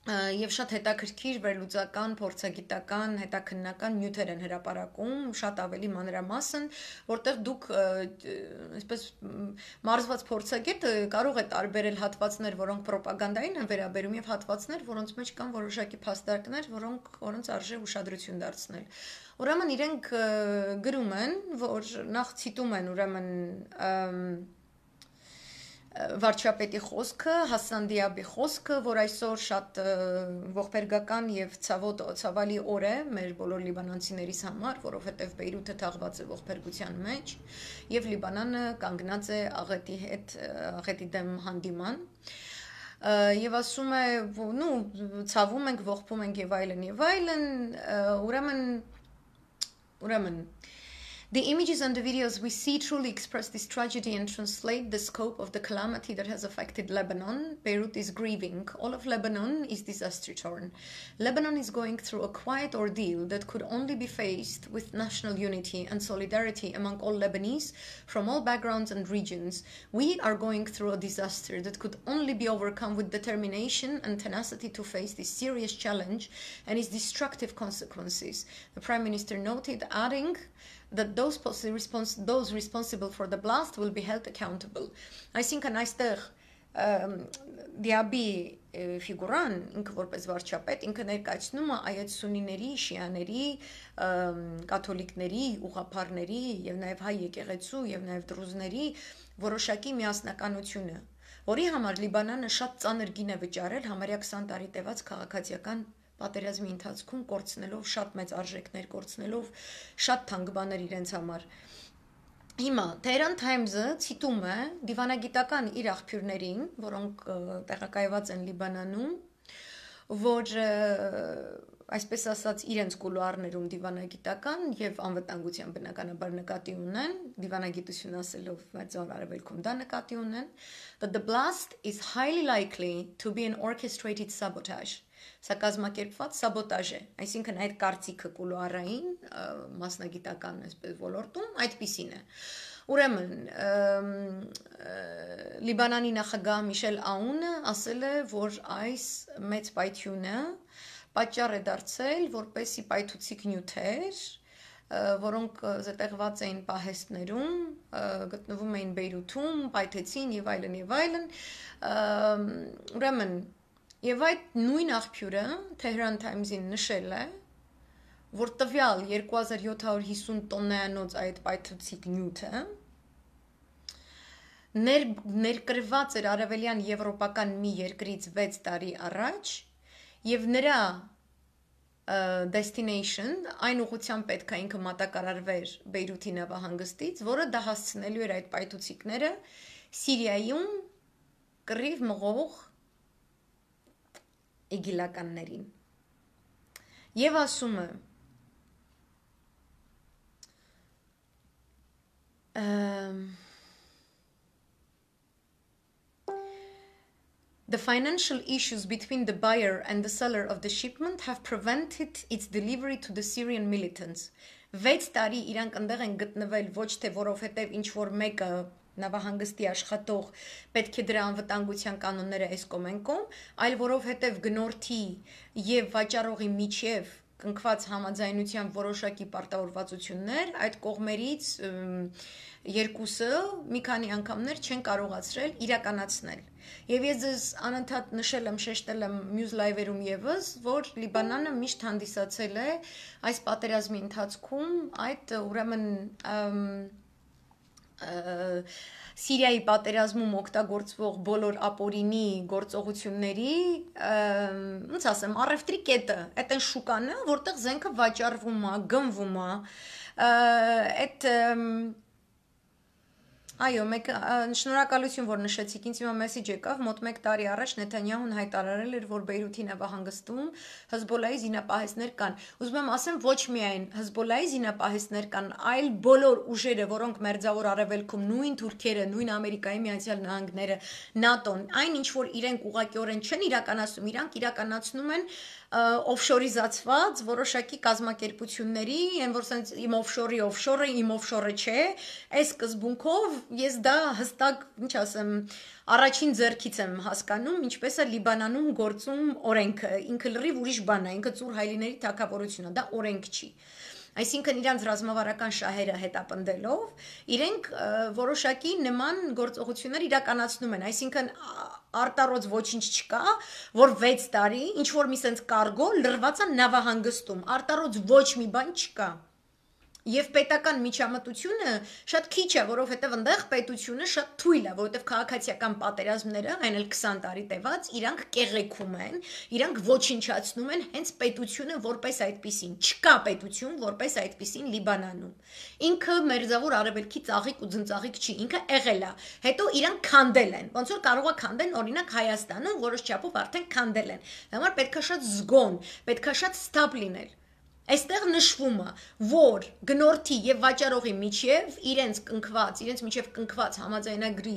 Եվ շատ հետաքրքիր վերլուծական, փորձագիտական, հետաքննական նյութեր են հրապարակում, շատ ավելի մանրամասն, որտեղ դուք այսպես մարզված փորձագետը կարող է տարբերել հատվածներ, որոնք ռոպագանդային են վերաբերում, եւ հատվածներ, որոնց մեջ կան որոշակի փաստարկներ, որոնք որոնց արժե ուշադրություն դարձնել։ Ուրեմն իրենք գրում են, որ նախ ցիտում են ուրեմն վարչապետի խոսքը, Հասան Դիաբի խոսքը, որ այսօր շատ ողբերգական եւ ցավոտ ցավալի օր է մեր բոլոր լիբանանցիներիս համար, որովհետեւ Բեյրութը թաղված է ողբերգության մեջ եւ Լիբանանը կանգնած է աղետի հետ, աղետի դեմ հանդիման Եվ ասում է, նու ցավում ենք, ողբում ենք եւ այլն եւ այլն, ուրեմն ուրեմն The images and the videos we see truly express this tragedy and translate the scope of the calamity that has affected Lebanon. Beirut is grieving. All of Lebanon is disaster-torn. Lebanon is going through a quiet ordeal that could only be faced with national unity and solidarity among all Lebanese from all backgrounds and regions. We are going through a disaster that could only be overcome with determination and tenacity to face this serious challenge and its destructive consequences. The Prime Minister noted, adding that those, respons those responsible for the blast will be held accountable. Այսինքն այստեղ Դիաբի ֆիգուրան ինքը որպես վարչապետ ինքը ներկայացնում է այայդ սունիների, շիաների, կաթոլիկների, ուղղափառների եւ նաեւ հայ եկեղեցու եւ նաեւ դրուզների որոշակի միասնականությունը, որի համար Լիբանանը շատ ծանր գին է վճարել համարյա քսան տարի տևած քաղաքացիական պատերազմի ընթացքում կորցնելով շատ մեծ արժեքներ, կորցնելով շատ թանկ բաներ իրենց համար։ Հիմա Tehran Times-ը ցիտում է դիվանագիտական իր աղբյուրներին, որոնք տեղակայված են Լիբանանում, որ այսպես ասած իրենց կուլուարներում դիվանագիտական եւ անվտանգության բնականաբար նկատի ունեն, դիվանագիտություն ասելով Մերձավոր Արևելքում դա նկատի ունեն, that the blast is highly likely to be an orchestrated sabotage. Սա կազմակերպված սաբոտաժ է, այսինքն այդ կարծիքը կուլուարային մասնագիտական այսպես ոլորտում այդպիսին է։ Ուրեմն Լիբանանի նախագահ Միշել Աունը ասել է, որ այս մեծ պայթյունը պատճառ է դարձել, որպեսի պայթուցիկ նյութեր, որոնք զետեղված էին պահեստներում, գտնվում էին Բեյրութում, պայթեցին եւ այլն եւ այլն, ուրեմն Եվ այդ նույն աղբյուրը Tehran Times-ին նշել է, որ տվյալ երկու հազար յոթ հարյուր հիսուն տոննայանոց այդ պայթուցիկ նյութը ներ, ներկրված էր արևելյան եվրոպական մի երկրից վեց տարի առաջ եւ նրա destination այն ուղղությամբ պետք է ինքը մատակարարվեր Բեյրութի նավահանգստից, որը դա հասցնելու էր այդ պայթուցիկները Սիրիայում կռիվ մղող իգիլականներին եւ ասում է The financial issues between the buyer and the seller of the shipment have prevented its delivery to the Syrian militants. Վեց տարի իրանք այնտեղ են գտնվել ոչ թե որովհետև ինչ որ մեկը նավահանգստի աշխատող պետք է դրա անվտանգության կանոնները այս կոմենկոմ, այլ որովհետև գնորդի եւ վաճառողի միջև կնքված համաձայնության որոշակի պարտավորվածություններ այդ կողմերից երկուսը մի քանի անգամներ չեն կարողացրել իրականացնել։ Եվ ես ձեզ անընդհատ նշել եմ, շեշտել եմ մյուս լայվերում եւս, որ Լիբանանը միշտ հանդիսացել է այս պատերազմի ընթացքում այդ ուրեմն Սիրիայի պատերազմում օգտագործվող բոլոր ապօրինի գործողությունների, ոնց ասեմ, առևտրի կետը, այդ այն շուկանը, որտեղ զենքը վաճառվում է, գնվում է, այդ Այո, մեկ շնորհակալություն, որ նշեցիք, ինձ հիմա մեսեջ եկավ, մոտ մեկ տարի առաջ Նեթանյահուն հայտարարել էր, որ Բեյրութի նավահանգստում Հեզբոլայի զինապահեսներ կան։ Ուզում եմ ասեմ, ոչ միայն Հեզբոլայի զինապահեսներ կան, այլ բոլոր ուժերը, որոնք մերձավոր արևելքում, նույն Թուրքիերը, նույն Ամերիկայի Միացյալ Նահանգները, ՆԱՏՕ-ն, այն ինչ որ իրենք ուղղակիորեն չեն իրականացնում, իրանք իրականացնում են օֆշորիզացված որոշակի կազմակերպությունների, այն որ sense իմ օֆշորի օֆշորը, իմ օֆշորը չէ, այս սկզբունքով ես դա հստակ, ինչ ասեմ, առաջին ձեռքից եմ հասկանում, ինչպես է Լիբանանում գործում օրենքը, ինքը լրիվ ուրիշ բան է, ինքը ծուր հայլիների թագավորությունն է, դա օրենք չի։ Այսինքն իրանց ռազմավարական շահերը հետապնդելով, իրենք որոշակի նման գործողություններ իրականացնում են, այսինքն արտառոց ոչինչ չկա, որ վեց տարի ինչ որ մի sense կարգո լրված է նավահանգստում, արտառոց ոչ մի բան չկա։ Եվ պետական միջամտությունը շատ քիչ է, որովհետև այնտեղ պետությունը շատ թույլ է, որովհետև քաղաքացիական պատերազմները, այն էլ քսան տարի տևած, իրանք կեղեքում են, իրանք ոչնչացնում են հենց պետությունը որպես այդպիսին։ Չկա պետություն որպես այդպիսին Լիբանանում։ Ինքը մերձավոր արևելքի ծաղիկ ու ձնծաղիկ չի, ինքը եղել է։ Հետո իրանք քանդել են, ոնց որ կարող է քանդեն օրինակ Հայաստանում, որոշ չափով արդեն քանդել են։ Դա համար պետքա շատ զգոն, պետքա շատ ստապ լինել։ Այստեղ նշվում է, որ գնորդի եւ վաճառողի միջև իրենց կնքված, իրենց միջև կնքված համաձայնագրի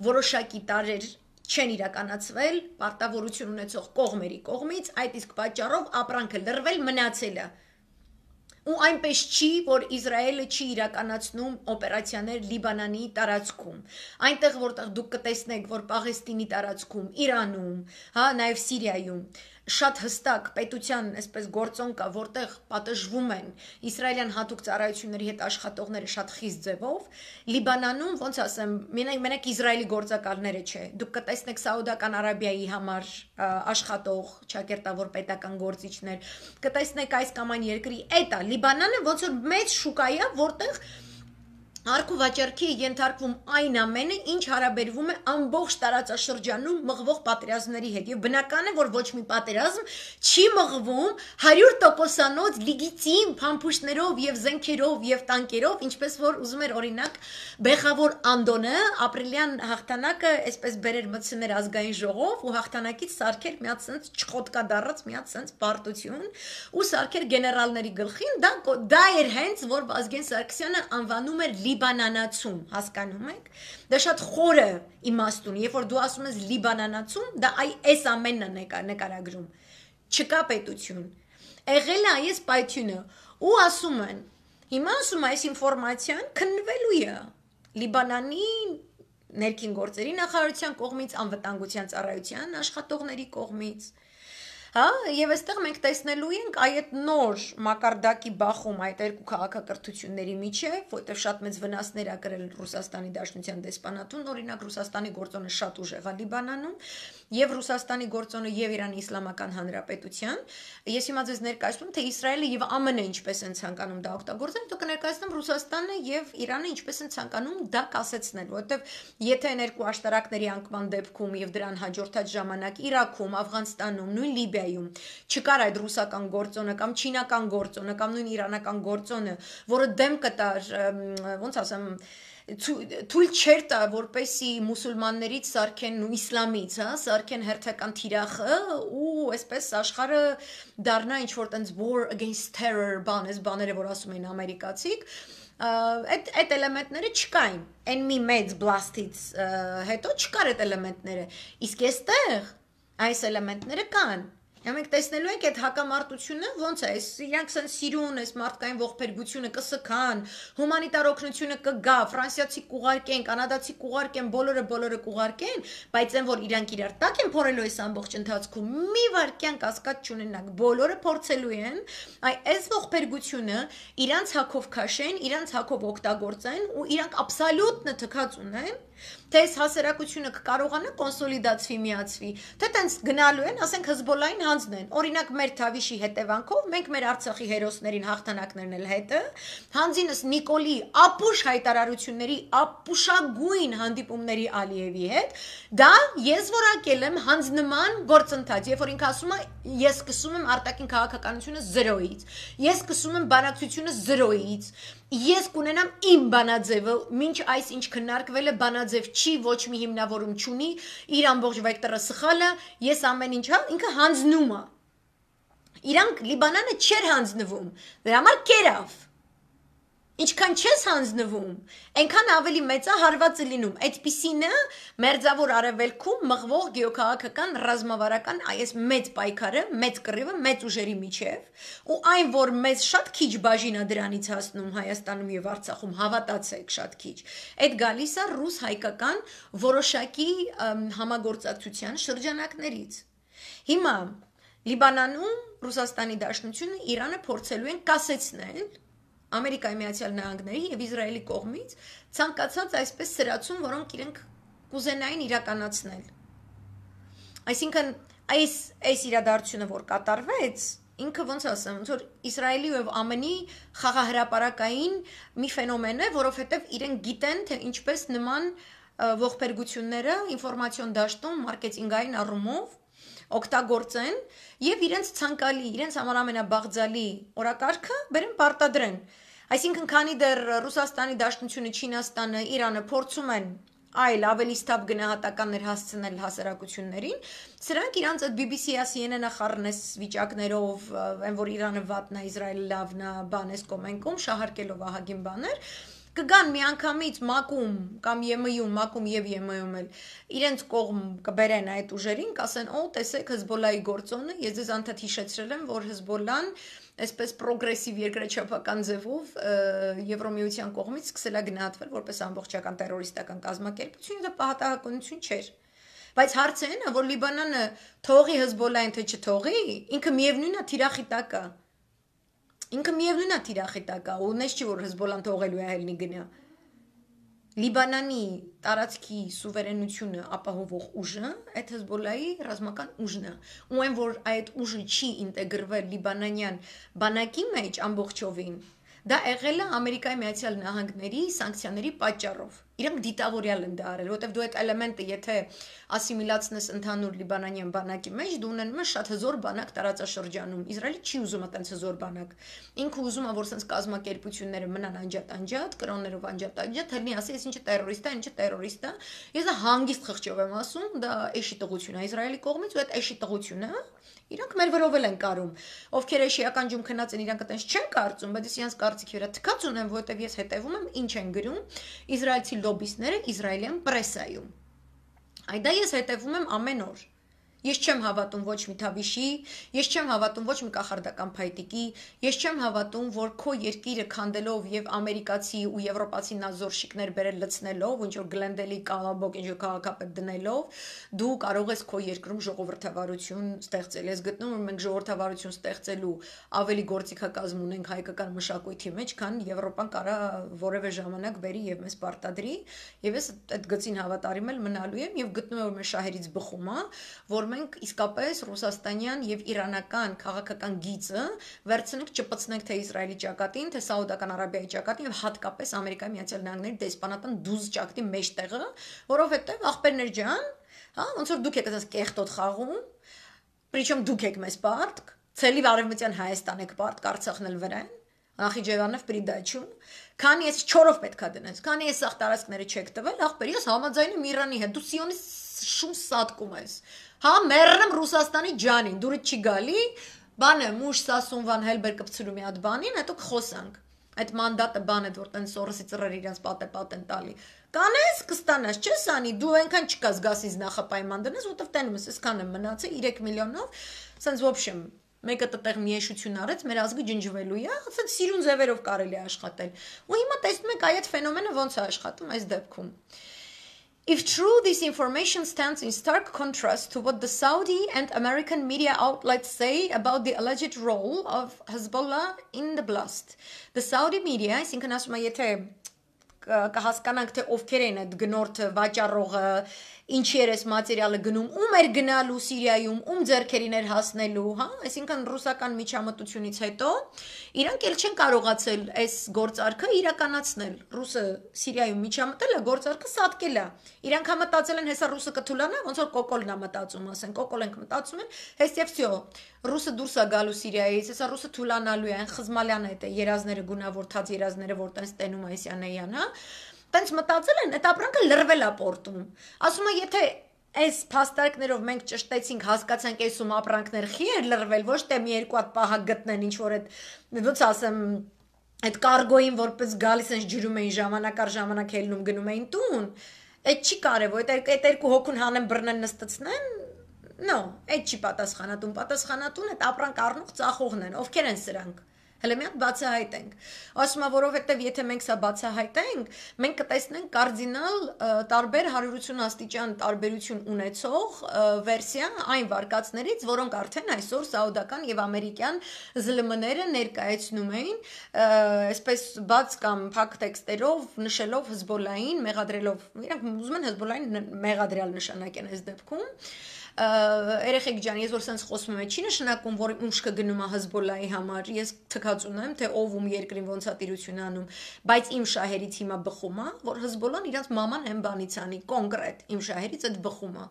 որոշակի տարեր չեն իրականացվել, պարտավորություն ունեցող կողմերի կողմից, այդ իսկ պատճառով ապրանքը լրվել մնացել է։ Ու այնպես չի, որ Իսրայելը չի իրականացնում օպերացիաներ Լիբանանի տարածքում։ Այնտեղ որտեղ դուք կտեսնեք, որ Պաղեստինի տարածքում, Իրանում, հա, նաև Սիրիայում շատ հստակ պետության այսպես գործոն կա, որտեղ պատժվում են իսրայելյան հատուկ ծառայությունների հետ աշխատողները շատ խիստ ձևով, Լիբանանում, ոնց ասեմ, մենակ մենակ Իսրայելի գործակալները չէ, դուք կտեսնեք Սաուդական Արաբիայի համար աշխատող, ճակերտավոր պետական գործիչներ, կտեսնեք այս կամ այն երկրի, այդ է Լիբանանը ոնց որ մեծ շուկա է, որտեղ Արքու վաճառքի ենթարկվում այն ամենը, ինչ հարաբերվում է ամբողջ տարածաշրջանում մղվող պատերազմների հետ։ Եվ բնական է, որ ոչ մի պատերազմ չի մղվում հարյուր տոկոսանոց լիգիտիմ փամփուշտներով եւ զենքերով եւ տանկերով, ինչպես որ ուզում էր օրինակ Բեխավոր Անդոնը ապրիլյան հաղթանակը այսպես բերեր մտցներ ազգային ժողով ու հաղթանակից սարքեր մի հատ sense չխոտկա դառած մի հատ sense պարտություն ու սարքեր գեներալների գլխին, դա դա էր հենց որ Վազգեն Սարգսյանը անվանում էր Լիբանանացում, հասկանում եք, դա շատ խորը իմաստուն, երբ որ դու ասում ես Լիբանանացում, դա այ այս ամենն է նկարագրում, չկա պետություն, եղել է այս պայթյունը, ու ասում են, հիմա ասում այս ինֆորմացիան քննվելու է Լիբանանի ներքին գործերի նախարարության կողմից, անվտանգության ծառայության աշխատողների կողմից, Հա, եւ այստեղ մենք տեսնելու ենք այդ նոր մակարդակի բախում այդ երկու քաղաքակրթությունների միջև, որտեղ շատ մեծ վնասներ ա կրել Ռուսաստանի Դաշնության դեսպանատուն, օրինակ Ռուսաստանի գործոնը շատ ուժեղ է Լիբանանում, եւ Ռուսաստանի գործոնը եւ Իրանի Իսլամական Հանրապետության։ Ես հիմա ձեզ ներկայացնում, թե Իսրայելը եւ ԱՄՆ-ը ինչպես են ցանկանում դա օգտագործել, դուք կներկայացնեմ Ռուսաստանը եւ Իրանը ինչպես են ցանկանում դա կասեցնել, որովհետեւ եթե այն երկու աշտարակների անկման դեպքում եւ դրան հաջորդած ժամանակ Իրաքում, Աֆղանստանում, նույն Լիբիայում չկար այդ ռուսական գործոնը կամ չինական գործոնը կամ նույն իրանական գործոնը, որը դեմ կտար, ոնց ասեմ, թույլ չէր տա, որպեսի մուսուլմաններից սարքեն ու իսլամից, հա, սարքեն հերթական թիրախը ու այսպես աշխարհը դառնա ինչ որ տենց war against terror բան, այս բաները որ ասում են ամերիկացիք, այդ այդ էլեմենտները չկային։ Այն մի մեծ բլաստից հետո չկար այդ էլեմենտները։ Իսկ այստեղ Այս էլեմենտները կան։ Մենք տեսնելու ենք այդ հակամարտությունը ոնց է, իրանք սեն սիրուն, այս մարդկային ողբերգությունը կսքան, հումանիտար օգնությունը կգա, ֆրանսիացի կուղարկեն, կանադացի կուղարկեն, բոլորը բոլորը կուղարկեն, բայց այն որ իրանք իրար տակ են փորելու այս ամբողջ ընթացքում, մի վարքյան կասկած չունենաք, բոլորը փորձելու են, այ այս ողբերգությունը իրանք հակով քաշեն, իրանք հակով օգտագործեն ու իրանք աբսոլյուտ թքած ունեն, թե այս հասարակությունը կկարողանա կոնսոլիդացվի, միացվի, թե տենց գնալու են, ասենք Հզբոլային հանձնեն, օրինակ մեր Թավիշի հետևանքով, մենք մեր Արցախի հերոսներին հաղթանակներն էլ հետը, հանձինս Նիկոլի ապուշ հայտարարությունների, ապուշագույն հանդիպումների Ալիևի հետ, դա ես որակել եմ հանձնման գործընթաց, երբ որ ինքը ասում է, ես սկսում եմ արտաքին քաղաքականությունը զրոյից, ես սկսում եմ բանակցությունը զրոյից, ես կունենամ իմ բանաձևը, մինչ այս ինչ քննարկվել է բանաձև չի, ոչ մի հիմնավորում չունի, իր ամբողջ վեկտորը սխալ է, ես ամեն ինչ, հա, ինքը հանձնում է։ Իրանք Լիբանանը չէր հանձնվում, դրա համար կերավ։ Ինչքան չես հանձնվում, այնքան ավելի մեծ է հարվածը լինում։ Այդպիսինը մերձավոր արևելքում մղվող գեոքաղաքական ռազմավարական այս մեծ պայքարը, մեծ կռիվը, մեծ ուժերի միջև, ու այն, որ մեզ շատ քիչ բաժին է դրանից հասնում Հայաստանում եւ Արցախում, հավատացեք, շատ քիչ։ Այդ գալիս է ռուս-հայկական որոշակի համագործակցության շրջանակներից։ Հիմա Լիբանանում Ռուսաստանի Դաշնությունը Իրանը փորձելու են կասեցնել Ամերիկայի Միացյալ Նահանգների եւ Իսրայելի կողմից ցանկացած այսպես սրացում, որոնք իրենք կուզենային իրականացնել։ Այսինքն այս այս իրադարձությունը, որ կատարվեց, ինքը ոնց ասեմ, ոնց որ Իսրայելի եւ ԱՄՆ-ի խաղահրապարակային մի ֆենոմեն է, որովհետեւ իրենք գիտեն, թե ինչպես նման ողբերգությունները ինֆորմացիոն դաշտում մարքեթինգային առումով օգտագործեն եւ իրենց ցանկալի, իրենց համար ամենաբաղձալի օրակարգը բերեն պարտադրեն։ Այսինքն, քանի դեռ Ռուսաստանի Դաշնությունը, Չինաստանը, Իրանը փորձում են այլ ավելի ստապ գնահատականներ հասցնել հասարակություններին, սրանք իրանց այդ բի բի սի-ա, սի են են-ա խառնես վիճակներով, այն որ Իրանը վատն է, Իսրայելը լավն է, բանես կոմենկում, շահարկելով ահագին բաներ, կգան միանգամից մակում կամ ԵՄ-ում, մակում եւ ԵՄ-ում էլ իրենց կողմ կբերեն այդ ուժերին, կասեն, օ, տեսեք Հզբոլայի գործոնը, ես ձեզ անդադ հիշեցրել եմ, որ Հզբոլան այսպես պրոգրեսիվ երկրաչափական ձևով Եվրոմիության կողմից սկսել է գնահատվել որպես ամբողջական տերորիստական կազմակերպություն, դա պատահականություն չէր։ Բայց հարցը այն է, որ Լիբանանը թողի Հզբոլային թե չթողի, ինքը միևնույնն է թիրախի տակ է։ Ինքը միևնույնն է թիրախի տակ է, ու նես չի որ Հզբոլան թողելու է ելնի գնա։ Լիբանանի տարածքի սուվերենությունը ապահովող ուժը այդ Հզբոլայի ռազմական ուժն է, ու այն որ այդ ուժը չի ինտեգրվել լիբանանյան բանակի մեջ ամբողջովին, դա եղել է Ամերիկայի Միացյալ Նահանգների սանկցիաների պատճառով։ Իրանք դիտավորյալ են դա արել, որտեղ դու այդ էլեմենտը եթե ասիմիլացնես ընդհանուր լիբանանյան բանակի մեջ, դու ունենում ես շատ հզոր բանակ տարածաշրջանում։ Իսրայելը չի ուզում այդպես հզոր բանակ։ Ինքը ուզում է որ sense կազմակերպությունները մնան անջատ-անջատ, կրոններով անջատ-անջատ, հելնի ասի, ես ինչը տերորիստ է, ինչը տերորիստ է։ Ես դա հանգիստ խղճով եմ ասում, դա էշի տղություն է Իսրայելի կողմից, ու այդ էշի տղությունը իրանք մեր վրով են կարում, ովքեր էշիական ջում քնած են, իրանք այդպես չեն կարծում, բայց ես իրանք կարծիքի վրա թքած ունեմ, որովհետև ես հետևում եմ ինչ են գրում իսրայելցի լոբիստները իսրայելյան պրեսայում։ Այ դա ես հետևում եմ ամեն օր։ Ես չեմ հավատում ոչ մի Թավիշի, ես չեմ հավատում ոչ մի կախարդական փայտիկի, ես չեմ հավատում, որ քո երկիրը քանդելով եւ ամերիկացի ու եվրոպացի նազորշիկներ բերել լցնելով, ինչ որ գլենդելի կալաբոկ ինչ որ քաղաքապետ դնելով, դու կարող ես քո երկրում ժողովրդավարություն ստեղծել։ Ես գտնում եմ մենք ժողովրդավարություն ստեղծելու ավելի գործիքակազմ ունենք հայկական մշակույթի մեջ, քան Եվրոպան կարա որևէ ժամանակ բերի եւ մեզ պարտադրի, եւ ես այդ գծին հավատարիմ եմ մնալու եմ եւ գտնում եմ որ մեր շահերից բխում է, որ մենք իսկապես ռուսաստանյան եւ իրանական քաղաքական գիծը վերցնենք չպցնենք թե Իսրայելի ճակատին, թե Սաուդական Արաբիայի ճակատին եւ հատկապես Ամերիկայի Միացյալ Նահանգների դեսպանատան դուզ ճակատի մեջտեղը, որովհետեւ ախպերներ ջան, հա, ոնց որ դուք եք ասած կեղտոտ խաղում, причем դուք եք մեզ պարտք, ցելի արևմտյան Հայաստան եք պարտք, Արցախն էլ վրան, Նախիջևանով պրիդաչում, քանի ես չորով պետքա դնես, քանի ես սաղ տարածքները չեք տվել, ախպեր ես համաձայնում Իրանի հետ, դու սիոնիստ շուն սատկում ես։ Հա, մեռնեմ Ռուսաստանի ջանին, դուրը չի գալի, բանը մուշ սասուն վան հելբեր կպցրու մի հատ բանին, հետո կխոսանք։ այդ մանդատը բանը որ տեն սորսի ծռեր իրանց պատե պատեն տալի կանես կստանաս չես անի դու այնքան չկաս գասից նախապայման դնես որտեվ տենում ես այսքան եմ մնացել երեք միլիոնով սենց в общем մեկը տեղ միեշություն արեց մեր ազգը ջնջվելու է ասած սիրուն ձևերով կարելի է աշխատել ու հիմա տեսնում եք այդ ֆենոմենը ոնց է աշխատում այս դեպքում If true, this information stands in stark contrast to what the Saudi and American media outlets say about the alleged role of Hezbollah in the blast. The Saudi media, այսինքն ասում է, եթե կհասկանանք թե ովքեր են այդ գնորդը, վաճառողը, ինչի էր այս մատերիալը գնում, ում էր գնալու Սիրիայում, ում ձեռքերին էր հասնելու, հա, այսինքն ռուսական միջամտությունից հետո իրանք էլ չեն կարողացել այս գործարքը իրականացնել։ Ռուսը Սիրիայում միջամտել է, գործարքը սատկել է։ Իրանք համտածել են հեսա ռուսը կթուլանա, ոնց որ կոկոլն է մտածում, ասեն, կոկոլ ենք մտածում են, հեսա վсё, ռուսը դուրս է գալու Սիրիայից, հեսա ռուսը թուլանալու է, այն խզմալյան է, երազները գունավորթած երազները, որ տենց տենում այսյանեյան, հա Տենց մտածել են, այդ ապրանքը լրվել է պորտում։ Ասում է, եթե այս փաստարկներով մենք ճշտեցինք, հասկացանք այսում ապրանքներ խի էր լրվել, ոչ թե մի երկու հատ պահակ գտնեն, ինչ որ այդ ոնց ասեմ, այդ կարգոին որպես գալիս են ջրում էին ժամանակ առ ժամանակ ելնում գնում էին տուն։ Այդ չի կարևոր, այդ երկու հոգուն հանեն բռնեն նստեցնեն։ No, այդ չի պատասխանատուն, պատասխանատուն այդ ապրանք առնող ծախողն են, ովքեր են սրանք։ Հələ մի հատ բացահայտենք։ Ասում եմ, որովհետև եթե մենք սա բացահայտենք, մենք կտեսնենք կարդինալ տարբեր one eighty աստիճան տարբերություն ունեցող վերսիա այն վարկածներից, որոնք արդեն այսօր սաուդական եւ ամերիկյան ԶԼՄ-ները ներկայացնում էին, այսպես բաց կամ փակ տեքստերով, նշելով Հեզբոլլային, մեղադրելով, իրանք ուզում են Հեզբոլլային մեղադրյալ նշանակեն այս դեպքում Երեխեք ջան, ես որ սենց խոսում եմ, չի նշանակում, որ ուշքը գնում է Հեզբոլլայի համար, ես թքած ունեմ, թե ով ում երկրին ոնց է տիրություն անում, բայց իմ շահերից հիմա բխում է, որ Հեզբոլլան իրանց մաման հեմ բանից անի, կոնկրետ, իմ շահերից այդ բխում է։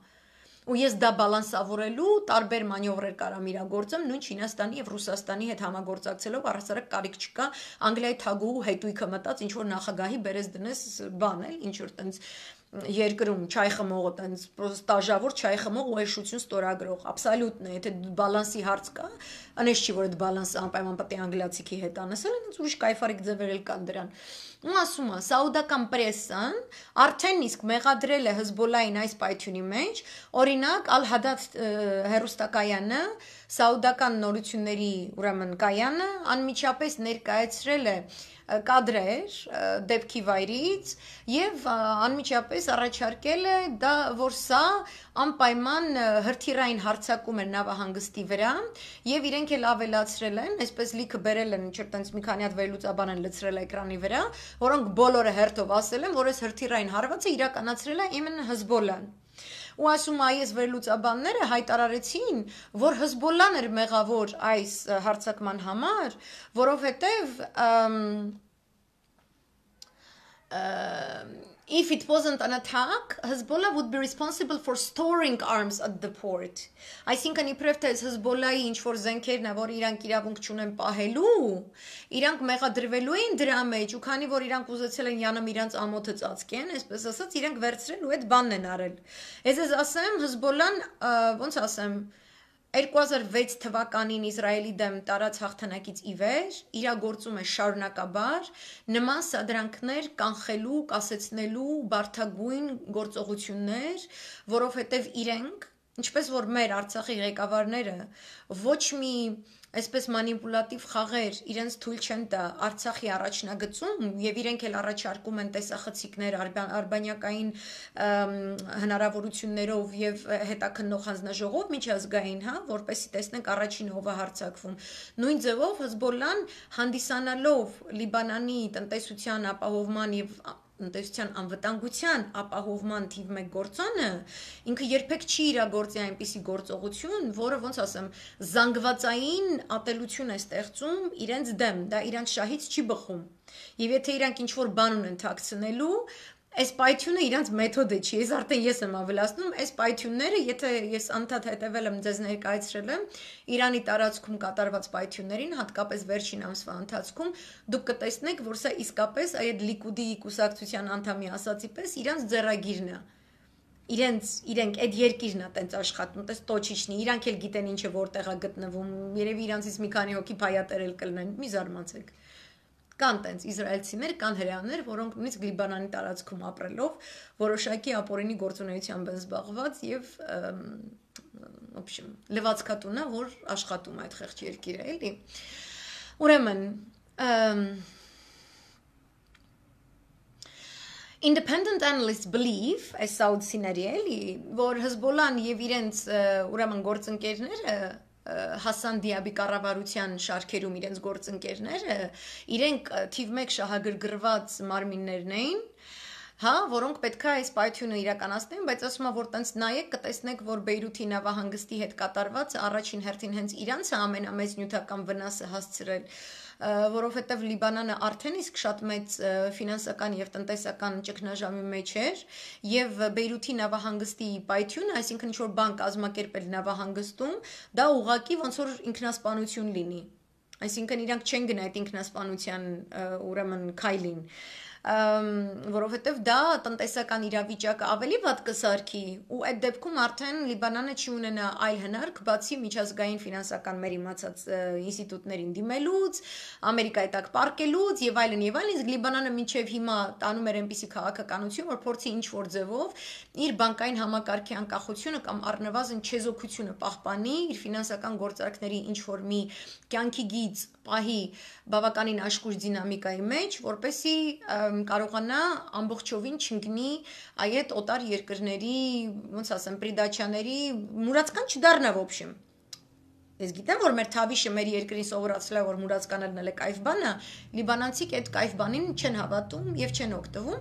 Ու ես դա բալանսավորելու տարբեր մանյովրեր կարամ իրագործեմ, նույն Չինաստանի եւ Ռուսաստանի հետ համագործակցելով առհասարակ կարիք չկա Անգլիայի թագուհու հետույքը մտած ինչ որ նախագահի բերես դնես բան էլ, ինչ որ տենց երկրում չայ խմողը տենց ստաժավոր չայ խմող ու էշություն ստորագրող абսոլютно եթե բալանսի հարց կա անես չի որ այդ բալանսը անպայման պետք է անգլիացիքի հետ անեսել են ուրիշ կայֆարիկ ձևեր էլ կան դրան ու ասում է սաուդական պրեսան արդեն իսկ մեղադրել է Հեզբոլլային այս պայթյունի մեջ օրինակ Ալ-Հադաթ հերոստակայանը սաուդական նորությունների ուրեմն կայանը անմիջապես ներկայացրել է կադրեր դեպքի վայրից եւ անմիջապես առաջարկել է դա որ սա անպայման հրթիռային հարձակում է նավահանգստի վրա եւ իրենք էլ ավելացրել են այսպես լիքը բերել են ինչ-որ տենց մի քանի հատ վերլուծաբան են լցրել էկրանի վրա որոնք բոլորը հերթով ասել են որ այս հրթիռային հարվածը իրականացրել է իմенно Հեզբոլլան ու ասում այս վերլուծաբանները հայտարարեցին, որ Հեզբոլլան էր մեղավոր այս հարձակման համար, որովհետև if it wasn't an attack, Hezbollah would be responsible for storing arms at the port. Այսինքն իբրև թե Հեզբոլլայի ինչ որ զենքերն է, որ իրանք իրավունք չունեն պահելու, իրանք մեղադրվելու են դրա մեջ, ու քանի որ իրանք ուզեցել են յանում իրանք ամոթը ծածկեն, այսպես ասած, իրանք վերցրել ու այդ բանն են արել։ Ես ես ասեմ, Հեզբոլլան, ոնց ասեմ, two thousand six թվականին Իսրայելի դեմ տարած հաղթանակից ի վեր իրագործում է շարունակաբար նման սադրանքներ կանխելու, կասեցնելու բարդագույն գործողություններ, որովհետև իրենք, ինչպես որ մեր Արցախի ղեկավարները ոչ մի այսպես մանիպուլատիվ խաղեր իրենց թույլ չեն տա Արցախի առաջնագծում եւ իրենք էլ առաջարկում են տեսախցիկներ արբանյակային հնարավորություններով եւ հետաքննող հանձնաժողով միջազգային, հա, որպեսզի տեսնենք առաջին ով է հարձակվում։ Նույն ձևով Հեզբոլլան հանդիսանալով Լիբանանի տնտեսության ապահովման եւ տնտեսության անվտանգության ապահովման թիվ մեկ գործոնը ինքը երբեք չի իրագործի այնպիսի գործողություն, որը ոնց ասեմ, զանգվածային ատելություն է ստեղծում իրենց դեմ, դա իրանց շահից չի բխում։ Եվ եթե իրանք ինչ որ բան ունեն թաքցնելու, այս պայթյունը իրանց մեթոդը չի, ես արդեն ես եմ ավելացնում, այս պայթյունները, եթե ես անդադ հետևել եմ ձեզ ներկայացրել եմ Իրանի տարածքում կատարված պայթյուններին, հատկապես վերջին ամսվա ընթացքում, դուք կտեսնեք, որ սա իսկապես այդ Լիկուդի կուսակցության անդամի ասացի պես իրանց ձեռագիրն է։ Իրենց իրենք այդ երկիրն է տենց աշխատում, տես տոչիչնի, իրանք էլ գիտեն ինչը որտեղ է գտնվում, երևի իրանցից մի քանի հոգի փայատերել կլինեն, մի զարմացեք։ կան տենց իսրայելցիներ, կան հրեաներ, որոնք նույնիսկ Լիբանանի տարածքում ապրելով որոշակի ապօրինի գործունեությամբ են զբաղված եւ в общем լվացքատունա, որ աշխատում է այդ խեղճ երկիրը, էլի։ Ուրեմն Independent analysts believe, այս սաուդցիների էլի, որ Հեզբոլլան եւ իրենց ուրեմն գործընկերները Հասան Դիաբի կառավարության շարքերում իրենց գործընկերները իրենք թիվ մեկ շահագրգռված մարմիններն էին, հա, որոնք պետք է այս պայթյունը իրականացնեն, բայց ասում եմ, որ տենց նայեք, կտեսնեք, որ Բեյրութի նավահանգստի հետ կատարված առաջին հերթին հենց իրանց է ամենամեծ նյութական վնասը հասցրել, որովհետև Լիբանանը արդեն իսկ շատ մեծ ֆինանսական եւ տնտեսական ճգնաժամի մեջ էր եւ Բեյրութի նավահանգստի պայթյունը, այսինքն ինչ-որ բան կազմակերպել նավահանգստում, դա ուղղակի ոնց որ ինքնասպանություն լինի, այսինքն իրանք չեն գնա այդ ինքնասպանության ուրեմն քայլին, որովհետև դա տնտեսական իրավիճակը ավելի վատ կսարքի ու այդ դեպքում արդեն Լիբանանը չի ունենա այլ հնարք, բացի միջազգային ֆինանսական մեր իմացած ինստիտուտներին դիմելուց, Ամերիկայի տակ պարկելուց եւ այլն եւ այլն, իսկ Լիբանանը մինչեւ հիմա տանում էր այնպիսի քաղաքականություն, որ փորձի ինչ որ ձևով իր բանկային համակարգի անկախությունը կամ առնվազն չեզոքությունը պահպանի, իր ֆինանսական գործարքների ինչ որ մի կյանքի գիծ պահի բավականին աշխույժ դինամիկայի մեջ, որպեսի կարողանա ամբողջովին չընկնի այդ օտար երկրների, ոնց ասեմ, պրիդաչաների մուրացկան չդառնա в общем։ Ես գիտեմ, որ մեր թավիշը մեր երկրին սովորացրել է, որ մուրացկանելն էլ է կայֆ բան է, լիբանանցիք այդ կայֆ բանին չեն հավատում եւ չեն օգտվում,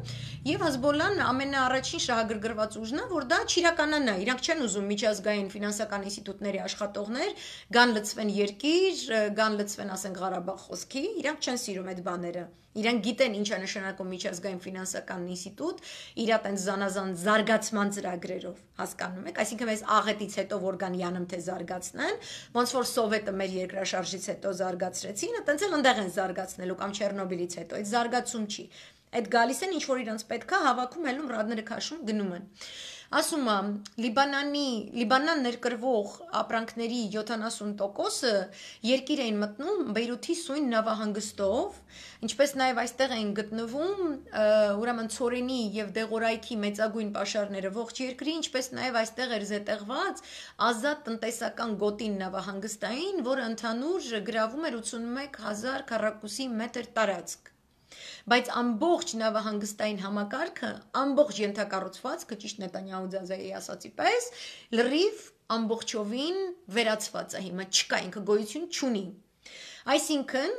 եւ Հեզբոլլան ամենաառաջին շահագրգռված ուժն է, որ դա չիրականանա, իրանք չեն ուզում միջազգային ֆինանսական ինստիտուտների աշխատողներ գան լծվեն երկիր, գան լծվեն, ասենք, Ղարաբաղ խոսքի, իրանք չեն սիրում այդ բաները։ Իրանք գիտեն ինչ է նշանակում միջազգային ֆինանսական ինստիտուտ, իր այդեն զանազան զարգացման ծրագրերով, հասկանում եք, այսինքն այս աղետից հետո որ կան յանում թե զարգացնեն, ոնց որ Սովետը մեր երկրաշարժից հետո զարգացրեցին, այտենց էլ ընդեղ են զարգացնելու կամ Չեռնոբիլից հետո, այդ զարգացում չի։ Այդ գալիս են ինչ որ իրանց պետք է հավաքում ելում ռադները քաշում գնում են։ Ասում եմ, Լիբանանի, Լիբանան ներկրվող ապրանքների յոթանասուն տոկոսը երկիր էին մտնում Բեյրութի սույն նավահանգստով, ինչպես նաև այստեղ էին գտնվում ուրեմն ցորենի եւ դեղորայքի մեծագույն պաշարները ողջ երկրի, ինչպես նաև այստեղ էր զետեղված ազատ տնտեսական գոտին նավահանգստային, որը ընդհանուր գրավում էր ութսունմեկ հազար քառակուսի մետր տարածք։ Բայց ամբողջ նավահանգստային համակարգը, ամբողջ ենթակառուցվածքը, ճիշտ Նետանյահու ձազայի ասացի պես, լրիվ ամբողջովին վերացված է հիմա, չկա, ինքը գոյություն չունի։ Այսինքն,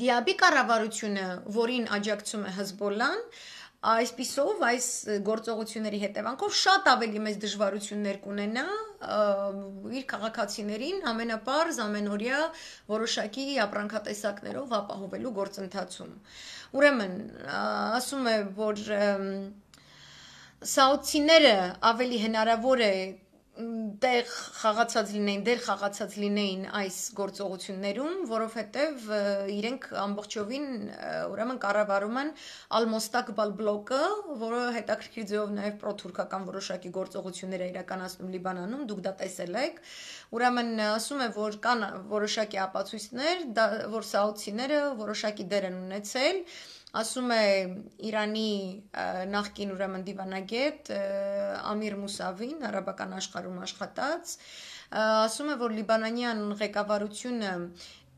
Դիաբի կառավարությունը, որին աջակցում է Հեզբոլլան, այսպիսով այս գործողությունների հետևանքով շատ ավելի մեծ դժվարություններ կունենա իր քաղաքացիներին ամենապարզ ամենօրյա որոշակի ապրանքատեսակներով ապահովելու գործընթացում։ Ուրեմն, ասում է, որ սաուդցիները ավելի հնարավոր է դեր խաղացած լինեին, դեր խաղացած լինեին այս գործողություններում, որովհետև իրենք ամբողջովին ուրեմն կառավարում են Ալ-Մոստակբալ բլոկը, որը հետաքրքիր ձևով նաև պրոթուրքական որոշակի գործողություններ է իրականացնում Լիբանանում, դուք դա տեսել եք։ Ուրեմն ասում է, որ կան որոշակի ապացույցներ, որ սաուդցիները որոշակի դեր են ունեցել, ասում է Իրանի նախկին ուրեմն դիվանագետ Ամիր Մուսավին, արաբական աշխարհում աշխատած, ասում է, որ լիբանանյան ղեկավարությունը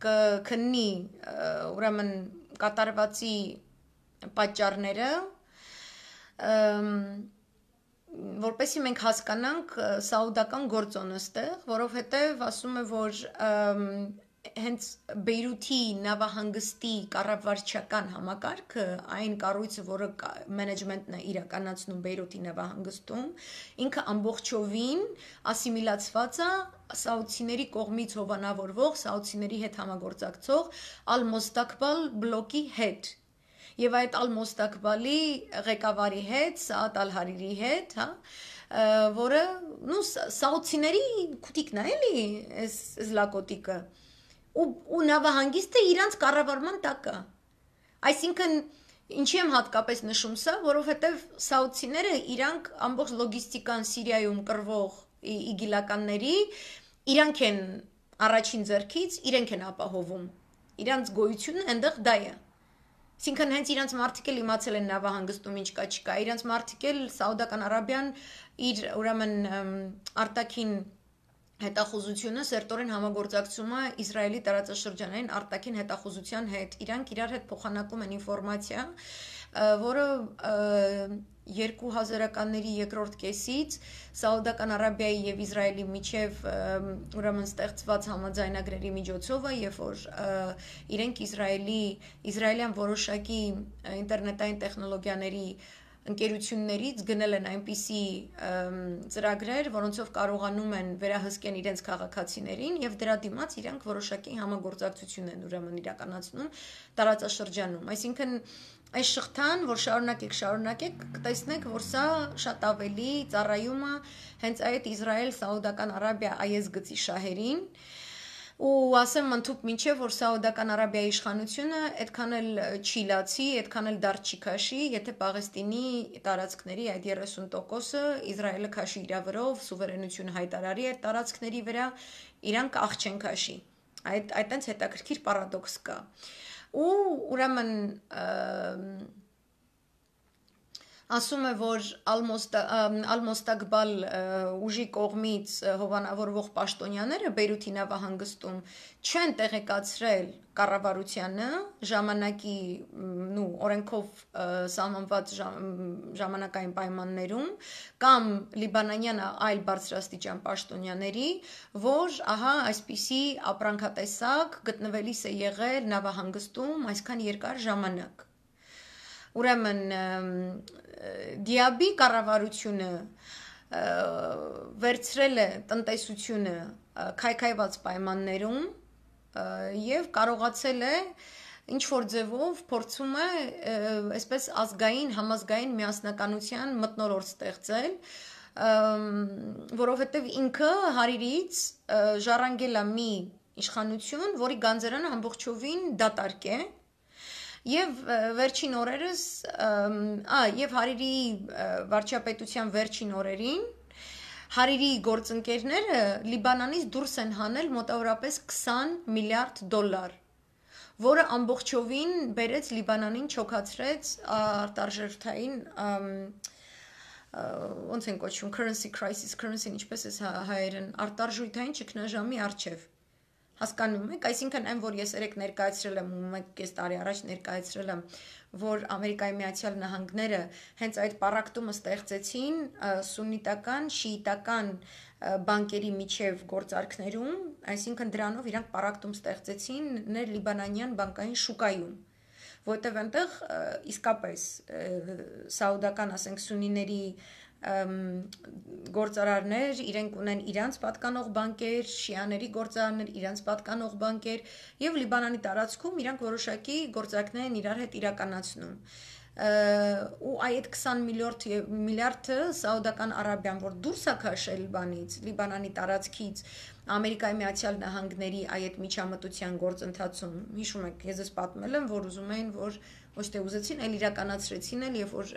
կքննի ուրեմն կատարվածի պատճառները, որպեսզի մենք հասկանանք սաուդական գործոնը ստեղ, որովհետև ասում է, որ հենց Բեյրութի նավահանգստի կառավարչական համակարգը, այն կառույցը, որը մենեջմենտն է իրականացնում Բեյրութի նավահանգստում, ինքը ամբողջովին ասիմիլացված է սաուդցիների կողմից հովանավորվող, սաուդցիների հետ համագործակցող Ալ-Մոստակբալ բլոկի հետ։ Եվ այդ Ալ-Մոստակբալի ղեկավարի հետ, Սաադ Ալ-Հարիրի հետ, հա, որը, նու սաուդցիների քուտիկն է, էլի, այս զլակոտիկը։ Ու նավահանգիստը իրանց կառավարման տակ է։ Այսինքն, ինչի եմ հատկապես նշում սա, որովհետև սաուդցիները իրանք ամբողջ լոգիստիկան Սիրիայում կռվող իգիլականների, իրանք են առաջին ձեռքից, իրենք են ապահովում։ Իրանց գոյությունը այնտեղ դա է։ Այսինքն հենց իրանց մարդիկ էլ իմացել են նավահանգստում ինչ կա չկա, իրանց մարդիկ էլ Սաուդական Արաբիան իր ուրեմն արտաքին հետախուզությունը սերտորեն համագործակցում է Իսրայելի տարածաշրջանային արտաքին հետախուզության հետ, իրանք իրար հետ փոխանակում են ինֆորմացիա, որը երկու հազարականների երկրորդ կեսից Սաուդական Արաբիայի եւ Իսրայելի միջև ուրեմն ստեղծված համաձայնագրերի միջոցով է, երբ որ իրենք Իսրայելի իսրայելյան որոշակի ինտերնետային տեխնոլոգիաների ընկերություններից գնել են այնպիսի ծրագրեր, որոնցով կարողանում են վերահսկեն իրենց քաղաքացիներին եւ դրա դիմաց իրանք որոշակի համագործակցություն են ուրեմն իրականացնում տարածաշրջանում, այսինքն այս շղթան, որ շարունակեք, շարունակեք, կտեսնեք, որ սա շատ ավելի ծառայում է հենց այդ Իսրայել-Սաուդական Արաբիա այես գծի շահերին, ու ասեմ ընդհուպ մինչև, որ Սաուդական Արաբիայի իշխանությունը այդքան էլ չի լացի, այդքան էլ դարձ չի քաշի, եթե Պաղեստինի տարածքների այդ երեսուն տոկոսը Իսրայելը քաշի իր վրով, սուվերենություն հայտարարի այդ տարածքների վրա, իրանք աղ չեն քաշի, այդ այտենց հետաքրքիր պարադոքս կա, ու ուրեմն ասում է, որ Ալ-Մոստակբալ ուժի կողմից հովանավորվող պաշտոնյաները Բեյրութի նավահանգստում չեն տեղեկացրել կառավարությանը ժամանակի նու օրենքով սահմանված ժամանակային պայմաններում կամ լիբանանյան այլ բարձրաստիճան պաշտոնյաների, որ ահա այսպիսի ապրանքատեսակ գտնվելիս է եղել նավահանգստում այսքան երկար ժամանակ։ Ուրեմն Դիաբի կառավարությունը վերցրել է տնտեսությունը քայքայված պայմաններում եւ կարողացել է ինչ որ ձևով փորձում է այսպես ազգային համազգային միասնականության մթնոլորտ ստեղծել, որովհետեւ ինքը հարիրից ժառանգել է մի իշխանություն, որի գանձերանը ամբողջովին դատարկ է Եվ վերջին օրերս, ա, եւ Հարիրի վարչապետության վերջին օրերին Հարիրի գործընկերները Լիբանանից դուրս են հանել մոտավորապես քսան միլիարդ դոլար, որը ամբողջովին բերեց Լիբանանին չոքացրեց արտարժութային ոնց են կոչվում currency crisis, currency ինչպես է հայերեն, արտարժութային ճգնաժամի առջև Հասկանում եք, այսինքն այն, որ ես երեք ներկայացրել եմ, մեկ կես տարի առաջ ներկայացրել եմ, որ Ամերիկայի Միացյալ Նահանգները հենց այդ պառակտումը ստեղծեցին սուննիտական, շիիտական բանկերի միջև գործարքներում, այսինքն դրանով իրանք պառակտում ստեղծեցին ներ-լիբանանյան բանկային շուկայում, որտեղ այնտեղ իսկապես սաուդական, ասենք, սուննիների գործարարներ, իրենք ունեն իրանց պատկանող բանկեր, շիաների գործարարներ, իրանց պատկանող բանկեր եւ Լիբանանի տարածքում իրանք որոշակի գործարքներ են իրար հետ իրականացնում։ Ու այդ քսան միլիարդը Սաուդական Արաբիան, որ դուրս է քաշել Լիբանից, Լիբանանի տարածքից Ամերիկայի Միացյալ Նահանգների այդ միջամտության գործընթացում, հիշում եք, ես ես պատմել եմ, որ ուզում էին, որ ոչ թե ուզեցին, այլ իրականացրեցին էլ, եւ որ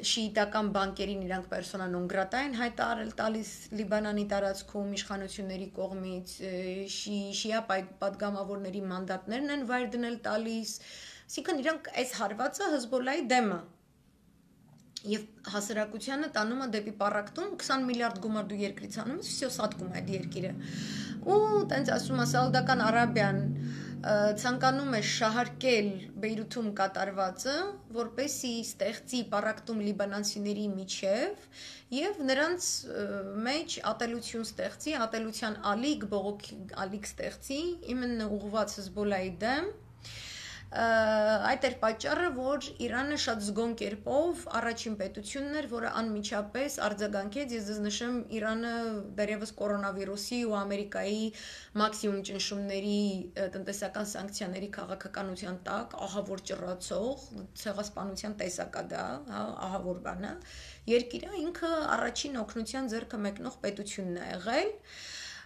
շիիտական բանկերին իրանք պերսոնա նոն գրատա են հայտարարել տալիս Լիբանանի տարածքում իշխանությունների կողմից, շիա պատգամավորների մանդատներն են վայր դնել տալիս, այսինքն իրանք այս հարվածը Հեզբոլլայի դեմ է։ Եվ հասարակությանը տանում է դեպի պառակտում քսան միլիարդ գումար դու երկրից անում ես, всё սատկում է այդ երկիրը։ Ու տենց ասում է Սաուդական Արաբիան ցանկանում է շահարկել Բեյրութում կատարվածը, որպեսզի ստեղծի պառակտում լիբանանցիների միջև եւ նրանց մեջ ատելություն ստեղծի, ատելության ալիք, բողոքի ալիք ստեղծի, իմенно ուղղված Հեզբոլլայի դեմ։ Այդ էր պատճառը, որ Իրանը շատ զգոն կերպով առաջին պետությունն էր, որը անմիջապես արձագանքեց, ես ձեզ նշեմ, Իրանը դեռևս կորոնավիրուսի ու Ամերիկայի մաքսիմում ճնշումների տնտեսական սանկցիաների քաղաքականության տակ, ահավոր ճռացող, ցեղասպանության տեսակ է դա, ահա որ բան է, երկիրը ինքը առաջին օգնության ձեռքը մեկնող պետությունն է եղել։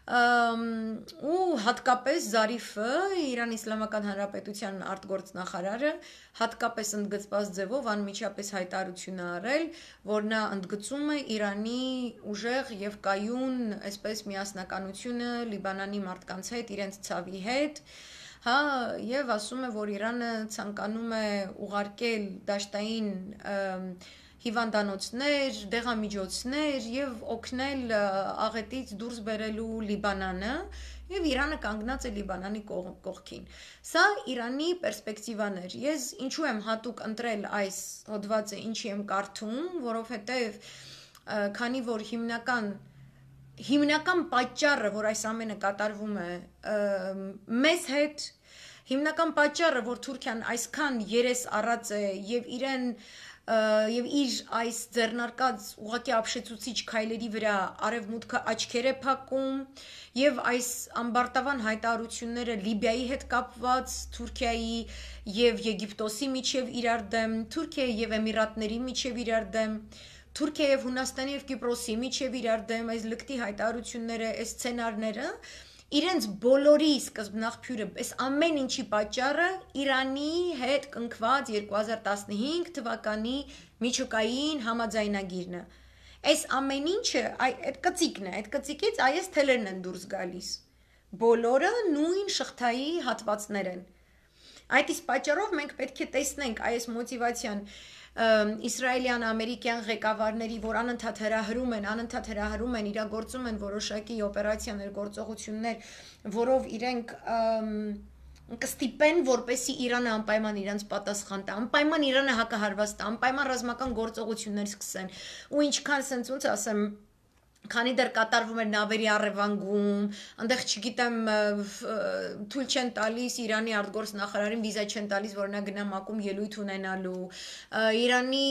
Ու հատկապես Զարիֆը, Իրան Իսլամական Հանրապետության արտգործնախարարը, հատկապես ընդգծված ձևով անմիջապես հայտարարություն է արել, որ նա ընդգծում է Իրանի ուժեղ եւ կայուն, այսպես միասնականությունը Լիբանանի մարդկանց հետ, իրենց ցավի հետ, հա, եւ ասում է, որ Իրանը ցանկանում է ուղարկել դաշտային հիվանդանոցներ, դեղամիջոցներ եւ օգնել աղետից դուրս բերելու Լիբանանը եւ Իրանը կանգնած է Լիբանանի կողքին։ Սա Իրանի պերսպեկտիվան էր։ Ես ինչու եմ հատուկ ընտրել այս հոդվածը, ինչի եմ կարդում, որովհետեւ քանի որ հիմնական հիմնական պատճառը, որ այս ամենը կատարվում է մեզ հետ, հիմնական պատճառը, որ Թուրքիան այսքան երես առած է եւ իրեն եւ իր այս ձեռնարկած ուղղակի ապշեցուցիչ քայլերի վրա արևմուտքը աչքեր է փակում եւ այս ամբարտավան հայտարարությունները Լիբիայի հետ կապված, Թուրքիայի եւ Եգիպտոսի միջև իրար դեմ, Թուրքիայի եւ Էմիրատների միջև իրար դեմ, Թուրքիայի եւ Հունաստանի եւ Կիպրոսի միջև իրար դեմ, այս լկտի հայտարարությունները, այս սցենարները իրենց բոլորի սկզբնաղբյուրը, այս ամեն ինչի պատճառը Իրանի հետ կնքված երկու հազար տասնհինգ թվականի միջուկային համաձայնագիրն է։ Այս ամեն ինչը այդ կծիկն է, այդ կծիկից այս թելերն են դուրս գալիս։ Բոլորը նույն շղթայի հատվածներ են։ Այդ իսկ պատճառով մենք պետք է տեսնենք այս մոտիվացիան իսրայելյան, ամերիկյան ղեկավարների, որ անընդհատ հրահրում են, անընդհատ հրահրում են, իրագործում են որոշակի օպերացիաներ, գործողություններ, որով իրենք կստիպեն, որպեսի Իրանը անպայման իրենց պատասխան տա, անպայման Իրանը հակահարված տա, անպայման ռազմական գործողություններ սկսեն, ու ինչքան սենց ոնց ասեմ, քանի դեռ կատարվում էր նավերի առևանգում, այնտեղ չգիտեմ թույլ չեն տալիս Իրանի արտգործ նախարարին վիզա չեն տալիս, որ նա գնա ՄԱԿ-ում ելույթ ունենալու, Իրանի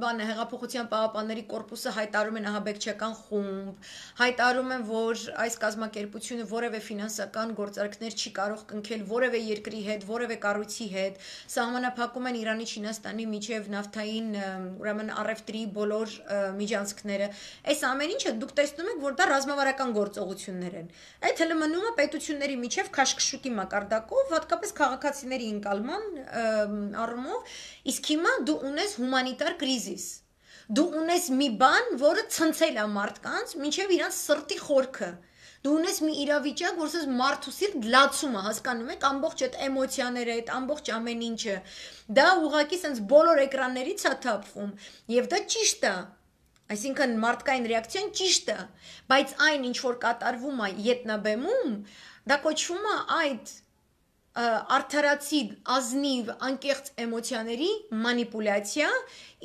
բանը հեղափոխության պահապանների կորպուսը հայտարարում են ահաբեկչական խումբ, հայտարարում են, որ այս կազմակերպությունը որևէ ֆինանսական գործարքներ չի կարող կնքել որևէ երկրի հետ, որևէ կառույցի հետ, սահմանափակում են Իրանի, Չինաստանի միջև նավթային, ուրեմն առևտրի բոլոր միջանցքները, այս ամեն ինչը դուք տեսնում եք, որ դա ռազմավարական գործողություններ են։ Այդ հələ մնում է պետությունների միջև քաշքշուկի մակարդակով, հատկապես քաղաքացիների ընկալման առումով, իսկ հիմա դու ունես հումանիտար կրիզիս։ Դու ունես մի բան, որը ցնցել է մարդկանց, մինչև իրանց սրտի խորքը։ Դու ունես մի իրավիճակ, որ ասես մարդու սիրտ լացում է, հասկանում եք, ամբողջ այդ էմոցիաները, այդ ամբողջ ամեն ինչը։ Դա ուղղակի sense բոլոր էկրաններից է թափվում, եւ դա ճիշտ է։ Այսինքն մարդկային ռեակցիան ճիշտ է, բայց այն ինչ որ կատարվում է ետնաբեմում, դա կոչվում է այդ արդարացի ազնիվ անկեղծ էմոցիաների մանիպուլյացիա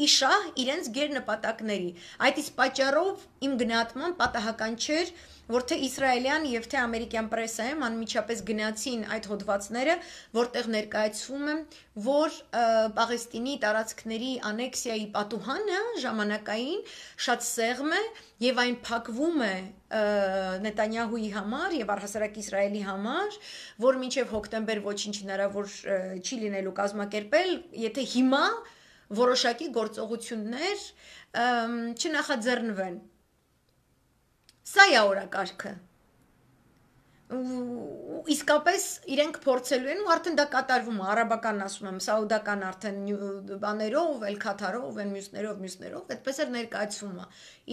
իշահ իրենց գերնպատակների։ Այդ իսկ պատճառով իմ գնահատման պատահական չէր, որ թե իսրայելյան եւ թե ամերիկյան պրեսայում անմիջապես գնացին այդ հոդվածները, որտեղ ներկայացվում է, որ Պաղեստինի տարածքների անեքսիայի պատուհանը ժամանակային շատ սեղմ է եւ այն փակվում է Նետանյահուի համար եւ առհասարակ Իսրայելի համար, որ մինչեւ հոկտեմբեր ոչինչ հնարավոր չի լինելու կազմակերպել, եթե հիմա որոշակի գործողություններ չնախաձեռնվեն։ Սա է օրակարգը։ Իսկապես իրենք փորձելու են ու արդեն դա կատարվում է, արաբական ասում եմ, սաուդական արդեն բաներով, էլ Քաթարով, էլ մյուսներով, մյուսներով, այդպես էլ ներկայացվում է։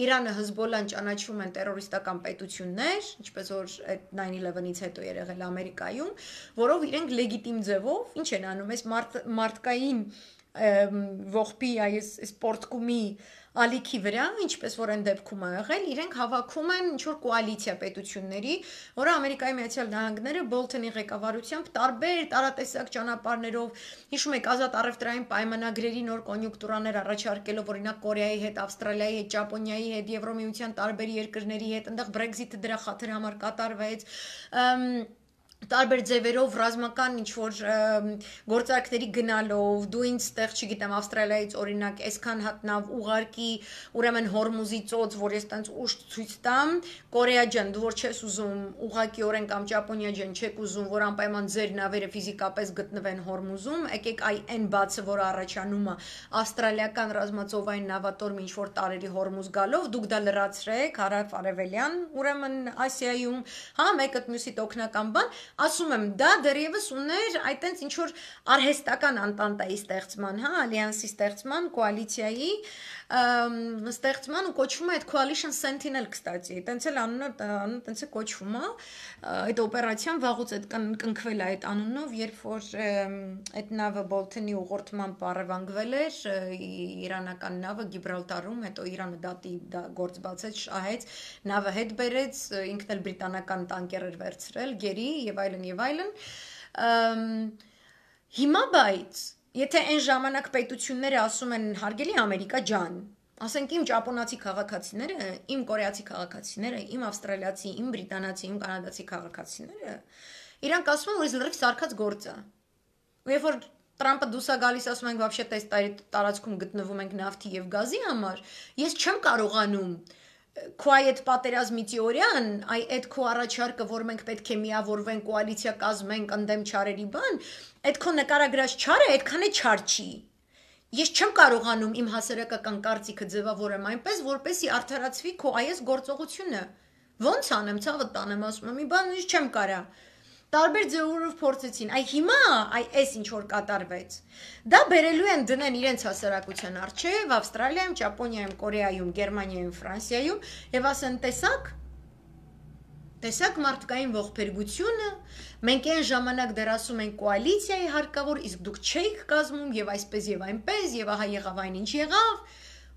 Իրանը, Հզբոլլան ճանաչվում են տերորիստական պետություններ, ինչպես որ այդ nine eleven-ից հետո եղել Ամերիկայում, որով իրենք լեգիտիմ ձևով, ինչ են անում, այս մարդկային ողբի այս սպորտկումի ալիքի վրա, ինչպես որ այն դեպքում է եղել, իրենք հավաքում են ինչ-որ կոալիցիա պետությունների, որը Ամերիկայի Միացյալ Նահանգները Բոլթոնի ղեկավարությամբ տարբեր տարատեսակ ճանապարհներով, հիշում եք, ազատ առևտրային պայմանագրերի նոր կոնյունկտուրաներ առաջարկելով, օրինակ Կորեայի հետ, Ավստրալիայի հետ, Ճապոնիայի հետ, Եվրոմիության տարբեր երկրների հետ, այնտեղ Brexit-ը դրա խաթր համար կատարվեց, տարբեր ձևերով ռազմական ինչ-որ գործարքների գնալով, դու ինձ տեղ, չգիտեմ, Ավստրալիայից օրինակ այսքան հատ նավ ուղարկի, ուրեմն Հորմուզի ծոց, որ ես տենց ուշ ցույց տամ, Կորեա ջան, դու որ չես ուզում ուղղակիորեն կամ Ճապոնիա ջան, չեք ուզում, որ անպայման ձեր նավերը ֆիզիկապես գտնվեն Հորմուզում, եկեք այ այն բացը, որ առաջանում է ավստրալիական ռազմածովային նավատորմ ինչ-որ տարերի Հորմուզ գալով, դուք դա լրացրեք, հարավ-արևելյան, ուրեմն Ասիայում, հա, մեկը մյուսիդ օգնական բան, ասում եմ, դա դեռևս ուներ այտենց ինչ որ արհեստական անտանտայի ստեղծման, հա, ալյանսի ստեղծման, կոալիցիայի, ստեղծման ու կոչվում է այդ Coalition Sentinel, կստացի, տենց էլ անունը տենց է կոչվում է, այդ օպերացիան վաղուց այդ կնքվել է այդ անունով, երբ որ այդ նավը Բոլթոնի ուղղորդման պարևանգվել էր, իրանական նավը Գիբրալտարում, հետո Իրանը դատի գործ բացեց, շահեց, նավը հետ բերեց, ինքն էլ բրիտանական տանկեր էր վերցրել, գերի եւ այլն եւ այլն։ Հիմա բայց եթե այն ժամանակ պետությունները ասում են հարգելի Ամերիկա ջան, ասենք իմ ճապոնացի քաղաքացիները, իմ կորեացի քաղաքացիները, իմ ավստրալիացի, իմ բրիտանացի, իմ կանադացի քաղաքացիները, իրանք ասում են, որ իզ լրիվ սարքած գործ է։ Ու երբ որ Տրամպը դուրս է գալիս, ասում ենք, вообще տես տարածքում գտնվում ենք նավթի եւ գազի համար, ես չեմ կարողանում քո այդ պատերազմի թեորիան, այ այդ քո առաջարկը, որ մենք պետք է միավորվենք, կոալիցիա կազմենք, ընդդեմ չարերի բան, այդ քո նկարագրած չարը այդքան է չար չի։ Ես չեմ կարողանում իմ հասարակական կարծիքը ձևավորեմ այնպես, որպեսզի արդարացվի քո այս գործողությունը։ Ոնց անեմ, ցավը տանեմ, ասում եմ, մի բան ինչ չեմ կարա։ Տարբեր ձևերով փորձեցին, այ հիմա, այ այս ինչ որ կատարվեց։ Դա բերելու են դնեն իրենց հասարակության առջև, Ավստրալիայում, Ճապոնիայում, Կորեայում, Գերմանիայում, Ֆրանսիայում, եւ ասեն, տեսակ, տեսակ մարդկային ողբերգությունը, մենք այն ժամանակ դեռ ասում ենք կոալիցիայի հարկավոր, իսկ դուք չեք կազմում եւ այսպես եւ այնպես եւ ահա եղավ այն ինչ եղավ,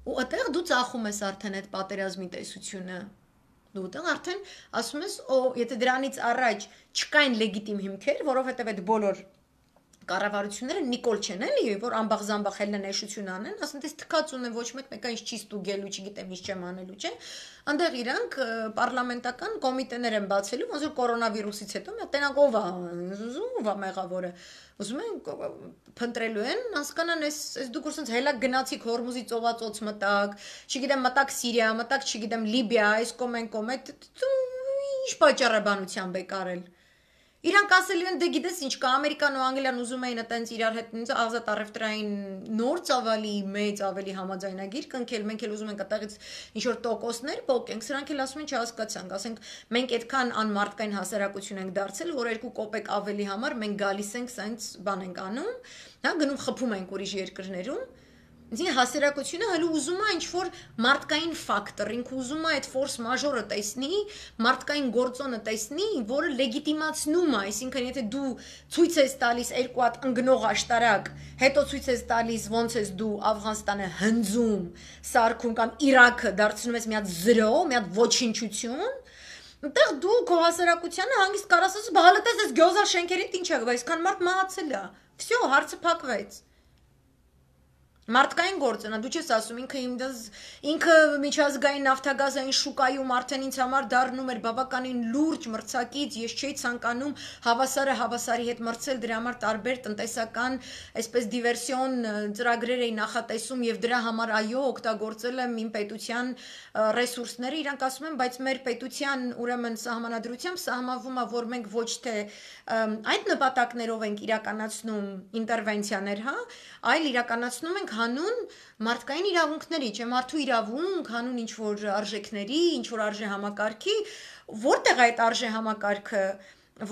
ու այդտեղ դու ծախում ես արդեն այդ պատերազմի տեսությունը։ Դու դեռ արդեն ասում ես, օ, եթե դրանից առաջ չկային լեգիտիմ հիմքեր, որովհետև այդ բոլոր կառավարությունները նիկոլ չեն էլի, որ ամբախ-զամբախ հելնեշություն անեն, ասեն, դες թքած ունեն ոչ մեկ մեկը ինչ չի ստուգելու, չգիտեմ ինչ չեմ անելու, չէ։ Անդեղ իրանք պարլամենտական կոմիտեներ են բացելու, ոնց որ կորոնավիրուսից հետո մի տենակ ով է, ով է մեղավորը։ Ուզում են փնտրելու են, հասկանան, այս այս դուք ուսած հելակ գնացիք Հորմուզի ծովածոց մտակ, չգիտեմ մտակ Սիրիա, մտակ չգիտեմ Լիբիա, այս կոմեն կոմ, ինչ պատճառաբանությամբ եք արել։ Իրանք ասելու են, դե գիտես ինչ կա, Ամերիկան ու Անգլիան ուզում էին այտենց իրար հետ ազատ առևտրային նոր ծավալի մեծ ավելի համաձայնագիր կնքել, մենք էլ ուզում ենք այդտեղից ինչ որ տոկոսներ փոխենք, սրանք էլ ասում են չհասկացանք, ասենք մենք այդքան անմարդկային հասարակություն ենք դարձել, որ երկու կոպեկ ավելի համար մենք գալիս ենք սենց բան ենք անում, հա, գնում խփում ենք ուրիշ երկրներում։ Ինձ հասարակությունը հələ ուզում է ինչ-որ մարդկային ֆակտոր, ինքը ուզում է այդ ֆորս մաժորը տեսնի, մարդկային գործոնը տեսնի, որը լեգիտիմացնում է, այսինքն եթե դու ցույց ես տալիս երկու հատ ընկնող աշտարակ, հետո ցույց ես տալիս ոնց ես դու Աֆղանստանը հնձում, սարքում կամ Իրաքը դարձնում ես մի հատ զրո, մի հատ ոչնչություն, այնտեղ դու քո հասարակությանը հանգիստ կարաս ասես, բա հələ տես այս գյոզա շենքերից ինչ է, այսքան մարդ մահացել է։ Всё, հարցը փակվեց։ Մարդկային գործն է, դու չես ասում, ինքը ինքը միջազգային նավթագազային շուկայում արդեն ինձ համար դառնում էր բավականին լուրջ մրցակից, ես չէի ցանկանում հավասարը հավասարի հետ մրցել, դրա համար տարբեր տնտեսական, այսպես դիվերսիոն ծրագրեր էի նախատեսում եւ դրա համար այո, օգտագործել եմ իմ պետության ռեսուրսները, իրանք ասում են, բայց մեր պետության ուրեմն սահմանադրությամբ սահմանվում է, որ մենք ոչ թե այդ նպատակներով ենք իրականացնում ինտերվենցիաներ, հա, այլ իրականացնում ենք հանուն մարդկային իրավունքների, չէ, մարդու իրավունք, հանուն ինչ որ արժեքների, ինչ որ արժե համակարգի, որտեղ այդ արժե համակարգը,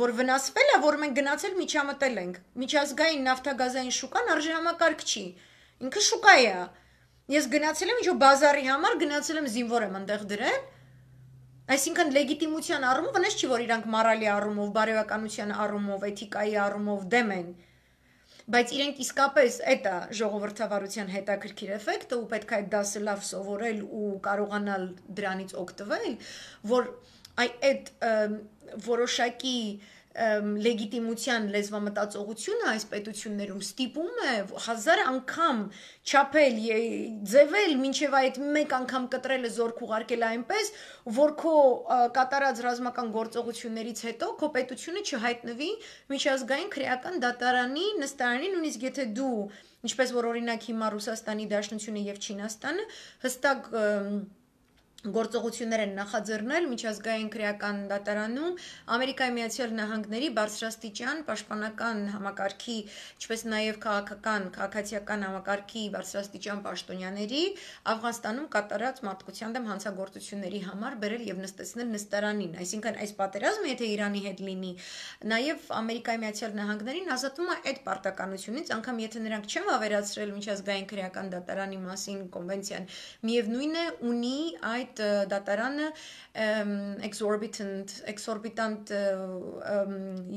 որ վնասվել է, որ մենք գնացել միջամտել ենք, միջազգային նավթագազային շուկան արժե համակարգ չի, ինքը շուկա է, ես գնացել եմ ինչ որ բազարի համար, գնացել եմ զինվոր եմ այնտեղ դրել, այսինքն լեգիտիմության առումով, վնաս չի, որ իրանք մորալի առումով, բարոյականության առումով, էթիկայի առումով դեմ են, բայց իրենք իսկապես այդ է ժողովրդավարության հետաքրքիր էֆեկտը ու պետք է այդ դասը լավ սովորել ու կարողանալ դրանից օգտվել, որ այդ որոշակի լեգիտիմության լեզվամտածողությունը այս պետություններում ստիպում է հազար անգամ չափել, ձևել, մինչև այդ մեկ անգամ կտրելը զորք ուղարկել այնպես, որ քո կատարած ռազմական գործողություններից հետո քո պետությունը չհայտնվի միջազգային քրեական դատարանի նստարանի, նույնիսկ եթե դու, ինչպես որ օրինակ հիմա Ռուսաստանի Դաշնությունը եւ Չինաստանը հստակ գործողություններ են նախաձեռնել միջազգային քրեական դատարանում Ամերիկայի Միացյալ Նահանգների բարձրաստիճան պաշտպանական համակարգի, ինչպես նաև քաղաքական, քաղաքացիական համակարգի բարձրաստիճան պաշտոնյաների Աֆղանստանում կատարած մարդկության դեմ հանցագործությունների համար բերել եւ նստեցնել նստարանին, այսինքն այս պատերազմը եթե Իրանի հետ լինի, նաև Ամերիկայի Միացյալ Նահանգներին ազատում է այդ պարտականությունից, անգամ եթե նրանք չեն վավերացրել միջազգային քրեական դատարանի մասին կոնվենցիան, միևնույն է ունի այդ դատարանը exorbitant exorbitant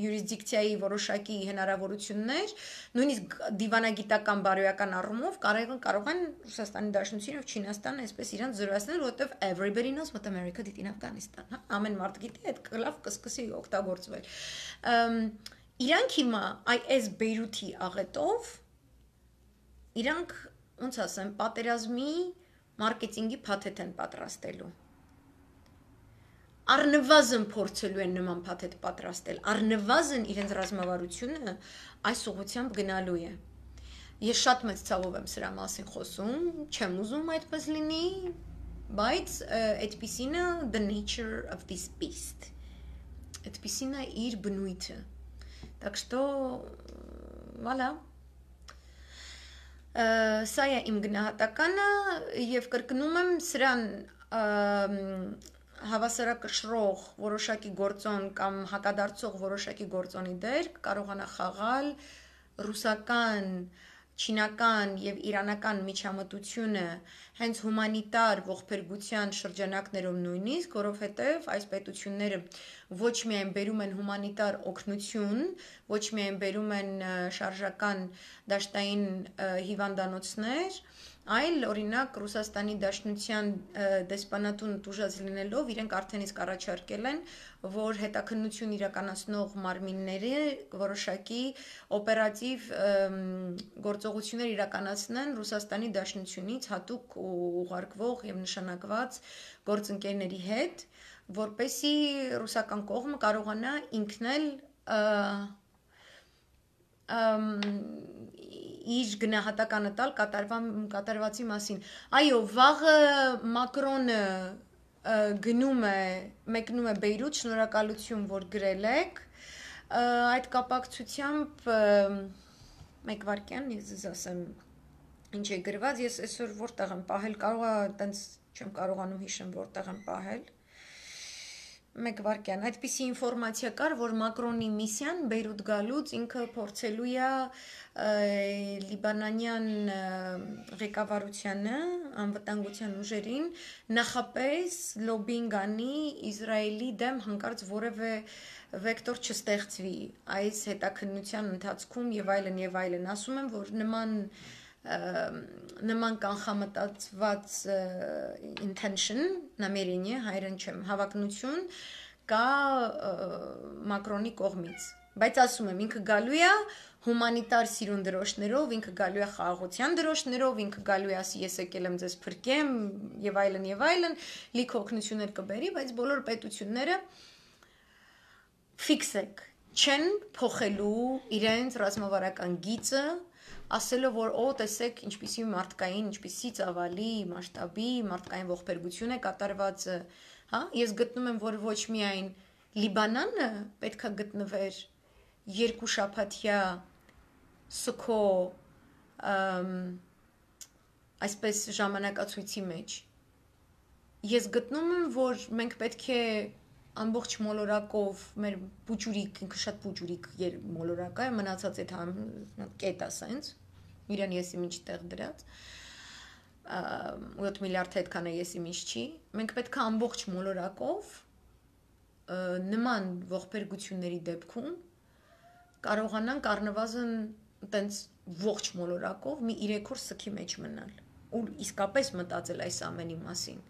յուրիսդիկցիայի որոշակի հնարավորություններ, նույնիսկ դիվանագիտական բարոյական առումով կարող են կարող են Ռուսաստանի Դաշնությունն եւ Չինաստանը այսպես իրանց զրոյացնել, որովհետեւ everybody knows what America did in Afghanistan, հա, ամեն մարդ գիտի այդ լավ կսկսի օգտագործվել։ Իրանք հիմա այս Բեյրութի աղետով իրանք ոնց ասեմ, պատերազմի մարքեթինգի փաթեթ են պատրաստելու։ Առնվազն փորձելու են նման փաթեթ պատրաստել, առնվազն իրենց ռազմավարությունը այս ուղղությամբ գնալու է։ Ես շատ մեծ ցավով եմ սրա մասին խոսում, չեմ ուզում այդպես լինի, բայց այդպիսին է the nature of this beast։ Այդպիսին է իր բնույթը։ Так что voilà Սա է իմ գնահատականը եւ կրկնում եմ սրան հավասարակշռող որոշակի գործոն կամ հակադարձող որոշակի գործոնի դեր կարողանա խաղալ ռուսական, չինական եւ իրանական միջամտությունը հենց հումանիտար ողբերգության շրջանակներում նույնիսկ, որովհետեւ այս պետությունները ոչ միայն բերում են հումանիտար օգնություն, ոչ միայն բերում են շարժական դաշտային հիվանդանոցներ, այլ օրինակ Ռուսաստանի Դաշնության դեսպանատուն տուժած լինելով իրենք արդեն իսկ առաջարկել են, որ հետաքննություն իրականացնող մարմինները որոշակի օպերատիվ գործողություններ իրականացնեն Ռուսաստանի Դաշնությունից հատուկ ուղարկվող եւ նշանակված գործընկերների հետ, որպեսզի ռուսական կողմը կարողանա ինքն էլ իր գնահատականը տալ կատարվածի մասին։ Այո, վաղը Մակրոնը գնում է, մեկնում է Բեյրութ, շնորհակալություն, որ գրել եք, այդ կապակցությամբ մեկ վարքյան, ես ձեզ ասեմ, ինչ է գրված, ես այսօր որտեղ եմ պահել, կարող է, տենց չեմ կարողանում հիշեմ, որտեղ եմ պահել, մեկ վարքյան, այդպիսի ինֆորմացիա կար, որ Մակրոնի միսիան Բեյրութ գալուց ինքը փորձելու է լիբանանյան ղեկավարությանը, անվտանգության ուժերին նախապես լոբինգ անի Իսրայելի դեմ հանկարծ որևէ վեկտոր չստեղծվի այս հետաքննության ընթացքում եւ այլն եւ այլն, ասում եմ, որ նման նման կանխամտածված intention, намерение, հայերեն չեմ, հավակնություն կա Մակրոնի կողմից, բայց ասում եմ, ինքը գալու է հումանիտար սիրուն դրոշներով, ինքը գալու է խաղաղության դրոշներով, ինքը գալու է ասի ես եկել եմ ձեզ փրկեմ եւ այլն եւ այլն, լիք օգնություններ կբերի, բայց բոլոր պետությունները ֆիքսեք չեն փոխելու իրենց ռազմավարական գիծը ասելով, որ օ, տեսեք, ինչպիսի մարդկային, ինչպիսի ծավալի, մասշտաբի, մարդկային ողբերգություն է կատարված, հա, ես գտնում եմ, որ ոչ միայն Լիբանանը պետք է գտնվեր երկու շաբաթյա սուքո այսպես ժամանակացույցի մեջ, ես գտնում եմ, որ մենք պետք է ամբողջ մոլորակով մեր պուճուրիկ, ինքը շատ պուճուրիկ մոլորակ է, մնացած այդ կետ է սենց, իրան եսի մինչ տեղ դրած, յոթ միլիարդ հետքան է եսի մինչ չի, մենք պետք է ամբողջ մոլորակով նման ողբերգությունների դեպքում կարողանանք առնվազն տենց ողջ մոլորակով մի երեք օր սքի մեջ մնալ ու իսկապես մտածել այս ամենի մասին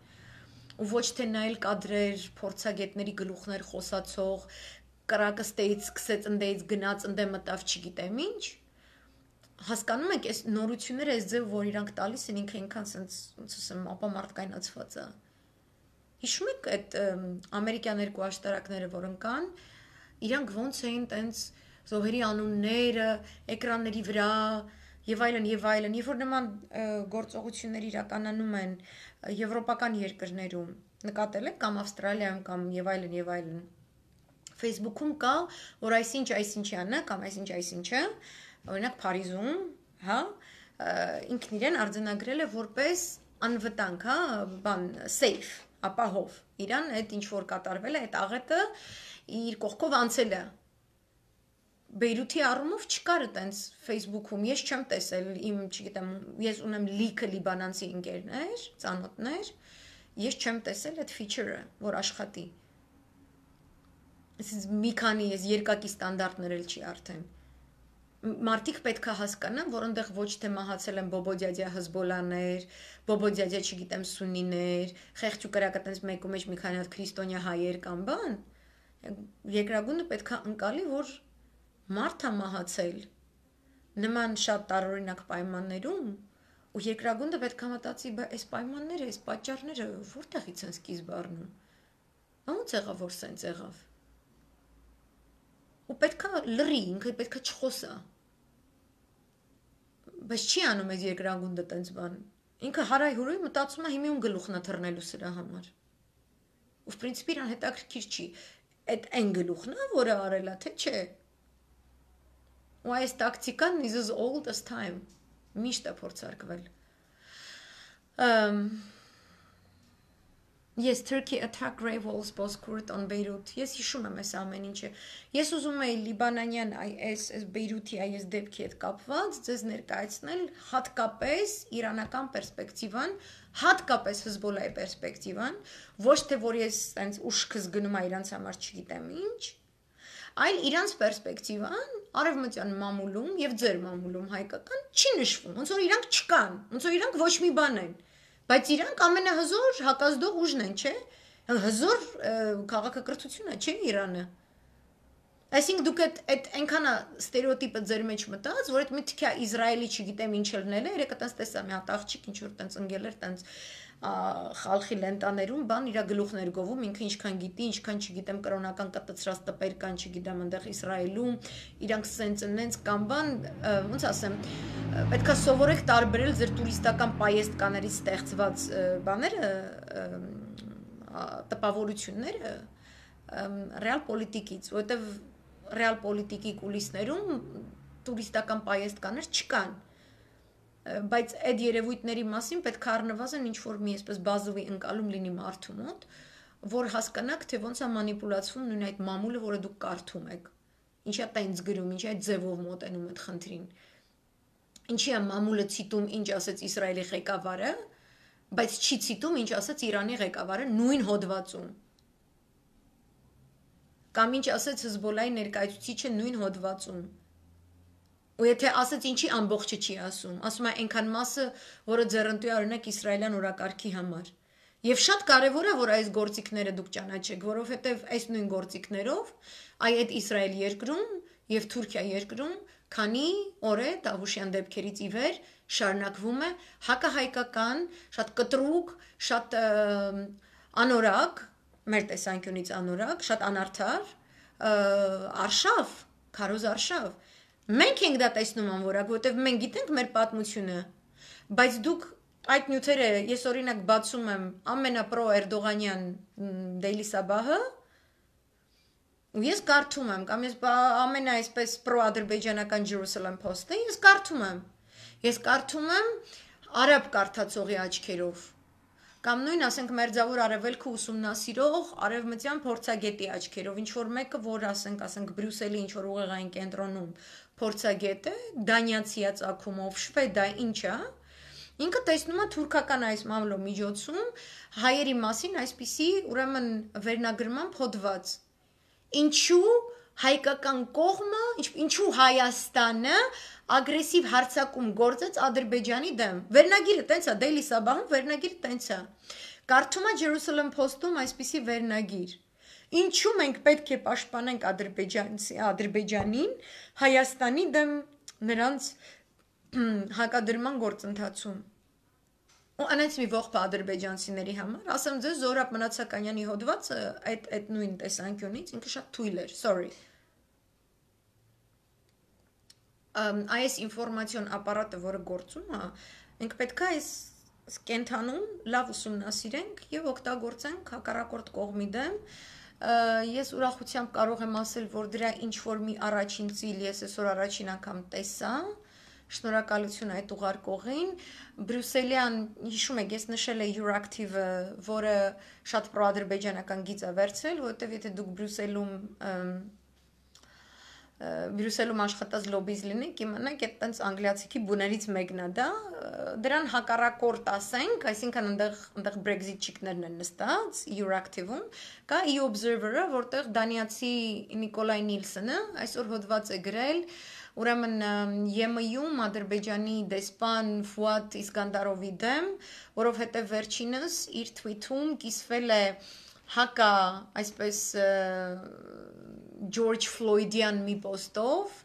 ու ոչ թե նայել կադրեր, փորձագետների գլուխներ խոսացող, կրակը ստեից սկսեց ընդեից գնաց, ընդե մտավ չգիտեմ ինչ, հասկանում եք, այս նորությունները այս ձև, որ իրանք տալիս են ինքը ինքան սենց, ոնց ասեմ, ապամարտկայնացված է։ Հիշում եք այդ ամերիկյան երկու աշտարակները, որ ընկան, իրանք ոնց էին տենց զոհերի անունները, էկրանների վրա, եւ այլն եւ այլն, երբ որ նման գործողություններ իրականանում են եվրոպական երկրներում, նկատել եք կամ Ավստրալիայում կամ եւ այլն եւ այլն, Facebook-ում կա, որ այսինչ այսինչյանը կամ այսինչ այսինչը, օրինակ Փարիզում, հա, ինքն իրեն արձանագրել է որպես անվտանգ, հա, բան, safe, ապահով։ Իրան այդ ինչ որ կատարվել է, այդ աղետը իր կողքով անցել է։ Բեյրութի առումով չկար այտենց Facebook-ում, ես չեմ տեսել, իմ, չգիտեմ, ես ունեմ լիքը լիբանանցի ընկերներ, ծանոթներ, ես չեմ տեսել այդ feature-ը, որ աշխատի։ Այսինքն մի քանի ես երկակի ստանդարտներ էլ չի արդեն։ Մարդիկ պետք է հասկանան, որ այնտեղ ոչ թե մահացել են բոբոդյադյա հզբոլաներ, բոբոդյադյա, չգիտեմ, սունիներ, խեղճ ու կրակ այտենց մեկու մեջ մի քանի հատ քրիստոնյա հայեր կամ բան։ Երկրագունդը պետք է ընկալի, որ մարդ է մահացել նման շատ տարօրինակ պայմաններում, ու երկրագունդը պետք է մտածի, բա այս պայմանները, այս պատճառները որտեղից են սկիզբ առնում։ Ո՞նց եղավ, որ սենց եղավ։ Ու պետք է լռի, ինքը պետք է չխոսա։ Բայց չի անում այս երկրագունդը տենց բան։ Ինքը հարայհուրույ մտածում է հիմի ում գլուխն է թռնելու սրա համար։ Ու պրինցիպի իրան հետաքրքիր չի։ Այդ այն գլուխն է, որը արել է, թե չէ։ Ու այս տակտիկան is as old as time։ Միշտ է փորձարկվել։ Yes, Turkey attacked grave walls Bozkurt on Beirut. Ես հիշում եմ այս ամեն ինչը։ Ես ուզում էի լիբանանյան այս այս Բեյրութի այս դեպքի հետ կապված ձեզ ներկայացնել հատկապես իրանական պերսպեկտիվան, հատկապես Հեզբոլայի պերսպեկտիվան, ոչ թե որ ես այնց ուշքս գնում եմ իրանց համար չգիտեմ ինչ, այլ իրանց պերսպեկտիվան արևմտյան մամուլում եւ ձեր մամուլում հայկական չի նշվում, ոնց որ իրանք չկան, ոնց որ իրանք ոչ մի բան են։ Բայց իրանք ամենահզոր հակազդող ուժն են, չէ՞։ Հզոր քաղաքակրթությունը, չէ՞ Իրանը։ Այսինքն դուք այդ այդ այնքան ստերեոտիպը ձեր մեջ մտած, որ այդ մի թքա Իսրայելի չգիտեմ ինչ լնել է, երեք այտենց տեսա մի հատ աղջիկ ինչ որ տենց ընկել էր, տենց խալխի լենտաներում բան իր գլուխներ գովում, ինքը ինչքան գիտի, ինչքան չգիտեմ կրոնական կտցրած տպեր կան, չգիտեմ այնտեղ Իսրայելում, իրանք սենց նենց կամ բան, ոնց ասեմ, պետքա սովորեք տարբերել ձեր տուրիստական պայեստկաներից ստեղծված բաները, տպավորությունները ռեալ պոլիտիկից, որովհետև ռեալ պոլիտիկի կուլիսներում տուրիստական պայեստկաներ չկան, բայց այդ երևույթների մասին պետք է առնվազն ինչ-որ մի այսպես բազովի ընկալում լինի մարդու մոտ, որ հասկանաք, թե ոնց է մանիպուլացվում նույն այդ մամուլը, որը դուք կարդում եք, ինչի է տենց գրում, ինչի է ձևով մոտենում այդ խնդրին, ինչի է մամուլը ցիտում, ինչ ասեց Իսրայելի ղեկավարը, բայց չի ցիտում, ինչ ասեց Իրանի ղեկավարը նույն հոդվածում, կամ ինչ ասեց Հեզբոլայի ներկայացուցիչը նույն հոդվածում, ու եթե ասեց ինչի ամբողջը չի ասում, ասում է այնքան մասը, որը ձեռնտու է օրինակ իսրայելյան օրակարգի համար։ Եվ շատ կարևոր է, որ այս գործիքները դուք ճանաչեք, որովհետև այս նույն գործիքներով այ այդ Իսրայել երկրում եւ Թուրքիա երկրում քանի օր է Դավուշյան դեպքերից ի վեր շարունակվում է հակահայկական, շատ կտրուկ, շատ անորակ, մեր տեսանկյունից անորակ, շատ անարդար, արշավ, քարոզ արշավ։ Մենք ենք դա տեսնում անորակ, որովհետև մենք գիտենք մեր պատմությունը, բայց դուք այդ նյութերը, ես օրինակ բացում եմ ամենապրո Էրդողանյան Daily Sabah-ը, ու ես կարդում եմ, կամ ես ամենա այսպես պրո-ադրբեջանական Jerusalem Post-ը, ես կարդում եմ, ես կարդում եմ արաբ կարդացողի աչքերով, կամ նույն ասենք մերձավոր արևելքը ուսումնասիրող արևմտյան փորձագետի աչքերով, ինչ որ մեկը, որ ասենք, ասենք Բրյուսելի ինչ որ ուղեղային կենտրոնում փորձագետ է, դանիացիա ծագումով, շվեդա, ինչա, ինքը տեսնում է թուրքական այս մամլո միջոցում հայերի մասին այսպիսի ուրեմն վերնագրման հոդված։ Ինչու հայկական կողմը, ինչու Հայաստանը ագրեսիվ հարձակում գործեց Ադրբեջանի դեմ։ Վերնագիրը տենց է, Daily Sabah-ում վերնագիրը տենց է։ Կարդում է Jerusalem Post-ում այսպիսի վերնագիր։ Ինչու մենք պետք է պաշտպանենք Ադրբեջանին Հայաստանի դեմ նրանց հակադրման գործընթացում։ Ու անց մի ողջ ադրբեջանցիների համար, ասեմ ձեզ Զորաբ Մնացականյանի հոդվածը այդ այդ նույն տեսանկյունից ինքը շատ թույլ էր, sorry։ այս ինֆորմացիոն ապարատը, որը գործում է, մենք պետք է այս կենթանում լավ ուսումնասիրենք եւ օգտագործենք հակառակորդ կողմի դեմ։ Ես ուրախությամբ կարող եմ ասել, որ դրա ինչ որ մի առաջին ծիլ ես այսօր առաջին անգամ տեսա։ Շնորհակալություն այդ ուղարկողին։ Բրյուսելյան, հիշում եք, ես նշել եմ Euractiv-ը, որը շատ պրոադրբեջանական գիծ է վերցրել, որովհետեւ եթե դուք Բրյուսելում Բրյուսելում աշխատած լոբիզ լինի, կիմանաք, այդ տենց անգլիացիքի բուներից մեկն է դա, դրան հակառակորդ ասենք, այսինքն այնտեղ այնտեղ Brexit-չիկներն են նստած Euractiv-ում, կա e-Observer-ը, որտեղ դանիացի Նիկոլայ Նիլսոնը այսօր հոդված է գրել, ուրեմն Ե Էմ Յում Ադրբեջանի դեսպան Ֆուադ Իսկանդարովի դեմ, որովհետև վերջինս իր թվիթում կիսվել է հակա, այսպես Ջորջ Ֆլոյդյան մի պոստով,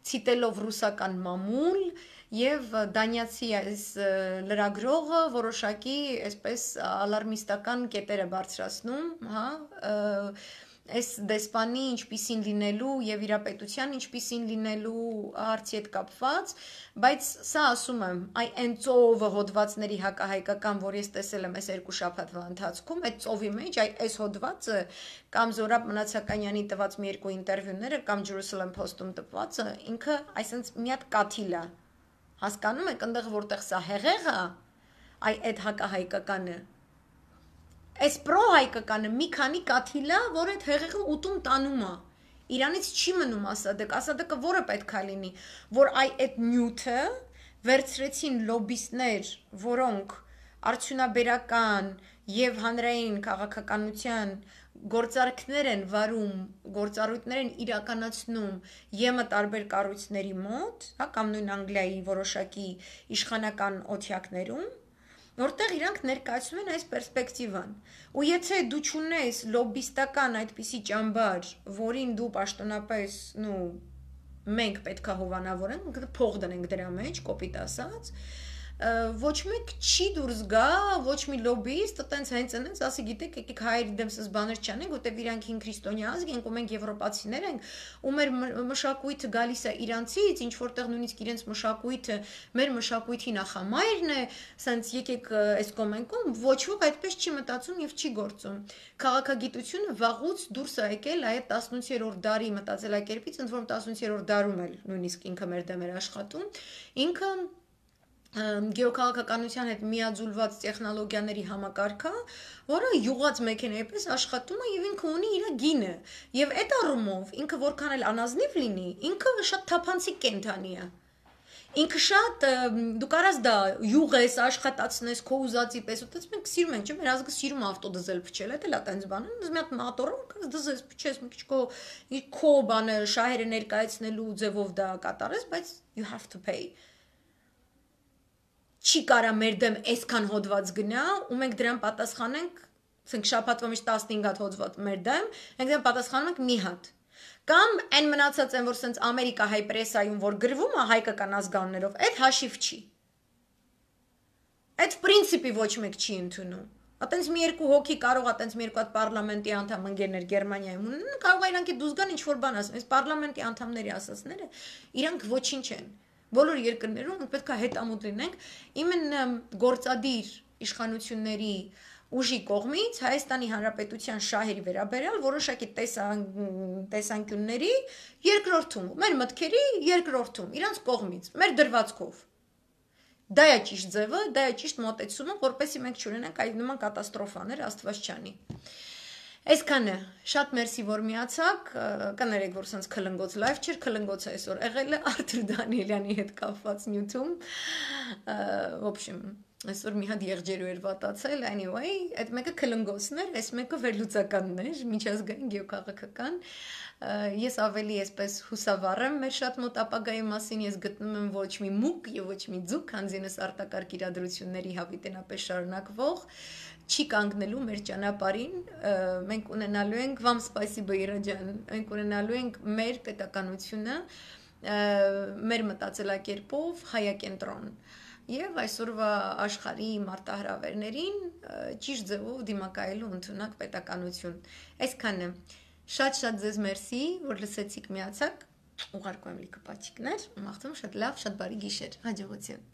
ցիտելով ռուսական մամուլ եւ դանիացի այս լրագրողը որոշակի այսպես ալարմիստական կետեր է բարձրացնում, հա, այս դեսպանի ինչպիսին լինելու եւ իրապետության ինչպիսին լինելու հարցի հետ կապված, բայց սա ասում եմ, այ այն ծովը հոդվածների հակահայկական, որ ես տեսել եմ այս երկու շաբաթվա ընթացքում, այդ ծովի մեջ, այ այս հոդվածը կամ Զորաբ Մնացականյանի տված մի երկու ինտերվյուները կամ Jerusalem Post-ում տպվածը, ինքը այսինքն մի հատ կաթիլ է։ Հասկանում եք, այնտեղ որտեղ սա հեղեղ է, այ այդ հակահայկականը Այս պրոհայկականը մի քանի կաթիլ է, որ այդ հեղեղը ուտում տանում է։ Իրանից չի մնում Ասադակ, Ասադակը որը պետք է լինի, որ այ այդ նյութը վերցրեցին լոբիստներ, որոնք արդյունաբերական եւ հանրային քաղաքականության գործարքներ են վարում, գործառույթներ են իրականացնում Ե Մ տարբեր կառույցների մոտ, հա, կամ նույն Անգլիայի որոշակի իշխանական օթյակներում, որտեղ իրանք ներկայացնում են այս պերսպեկտիվան։ Ու եթե դու չունես լոբիստական այդպիսի ճամբար, որին դու պաշտոնապես, նու, մենք պետք է հովանավորենք, փող դնենք դրա մեջ, կոպիտ ասած, ոչ մեկ չի դուրս գա, ոչ մի լոբիստ, տենց հենց այնց ասի, գիտեք, եկեք հայերի դեմ սս բաներ չանենք, որտեղ իրանք հին քրիստոնյա ազգ ենք, ու մենք եվրոպացիներ ենք, ու մեր մշակույթը գալիս է իրանցից, ինչ որտեղ նույնիսկ իրենց մշակույթը մեր մշակույթի նախամայրն է, սենց եկեք այս կոմենկում, ոչ ոք այդպես չի մտածում եւ չի գործում։ Քաղաքագիտությունը վաղուց դուրս է եկել այդ տասնութերորդ դարի մտածելակերպից, ընդ որում տասնութերորդ դարում էլ նույնիսկ ինքը մեր դեմ էր աշխատում, ինքը գեոքաղաքականության հետ միաձուլված տեխնոլոգիաների համակարգը, որը յուղած մեքենայի պես աշխատում է եւ ինքը ունի իր գինը։ Եվ այդ առումով ինքը որքան էլ անազնիվ լինի, ինքը շատ թափանցիկ կենդանի է։ Ինքը շատ դու կարաս դա յուղես աշխատացնես քո ուզածի պես, ուտես մենք սիրում ենք, չէ՞, մեր ազգը սիրում է ավտոդիզել փչել, դա էլ է տենց բանը, դες մի հատ մոտորը կարաս դզես փչես, մի քիչ քո քո բանը շահերը ներկայացնելու ձևով դա կատարես, բայց you have to pay Չի կարա մեր դեմ այսքան հոդված գնա, ու մենք դրան պատասխանենք, ասենք շաբաթվա մեջ տասնհինգ հատ հոդված մեր դեմ, մենք դրան պատասխանում ենք մի հատ։ Կամ այն մնացած են, որ սենց Ամերիկա հայ պրեսայում, որ գրվում է հայկական ազգաններով, այդ հաշիվ չի։ Այդ պրինցիպի ոչ մեկ չի ընդունում։ Ատենց մի երկու հոգի կարող է ատենց մի երկու հատ պարլամենտի անդամ ընկերներ Գերմանիայում ունեն, կարող է իրանք դուզ գան ինչ-որ բան ասեն, այս պարլամենտի անդամների ասածները, իրանք ոչինչ են։ Բոլոր երկրներում պետք է հետամուտ լինենք, իմенно գործադիր իշխանությունների ուժի կողմից Հայաստանի Հանրապետության շահերի վերաբերյալ որոշակի տեսանկյունների երկրորդում, մեր մտքերի երկրորդում, իրանց կողմից, մեր դրվածքով։ Դա է ճիշտ ձևը, դա է ճիշտ մոտեցումը, որպեսզի մենք չունենանք այդ նման կատաստրոֆաներ, Աստված չանի։ Այսքանը, շատ մերսի, որ միացաք, կներեք, որ սենց քլնգոց լայվ չէր, քլնգոցը այսօր եղել է Արթուր Դանիելյանի հետ կապված նյութում, в общем, այսօր մի հատ եղջերու էր վատացել, anyway, այդ մեկը քլնգոցն էր, այս մեկը վերլուծականն էր, միջազգային գեոքաղաքական, ես ավելի այսպես հուսավառ եմ մեր շատ մոտ ապագայի մասին, ես գտնում եմ ոչ մի մուկ եւ ոչ մի ձուկ, քանզինս արտակարգ իրադրությունների հավիտենապես շարունակվող չի կանգնելու մեր ճանապարհին, մենք ունենալու ենք вам спасибо Իրանջան, մենք ունենալու ենք մեր պետականությունը, մեր մտածելակերպով հայակենտրոն եւ այսօրվա աշխարհի մարտահրավերներին ճիշտ ձևով դիմակայելու ընդունակ պետականություն։ Այսքանը շատ-շատ ձեզ մերսի, որ լսեցիք միացաք, ուղարկում եմ լիքը պաչիկներ, մաղթում շատ լավ, շատ բարի գիշեր, հաջողություն։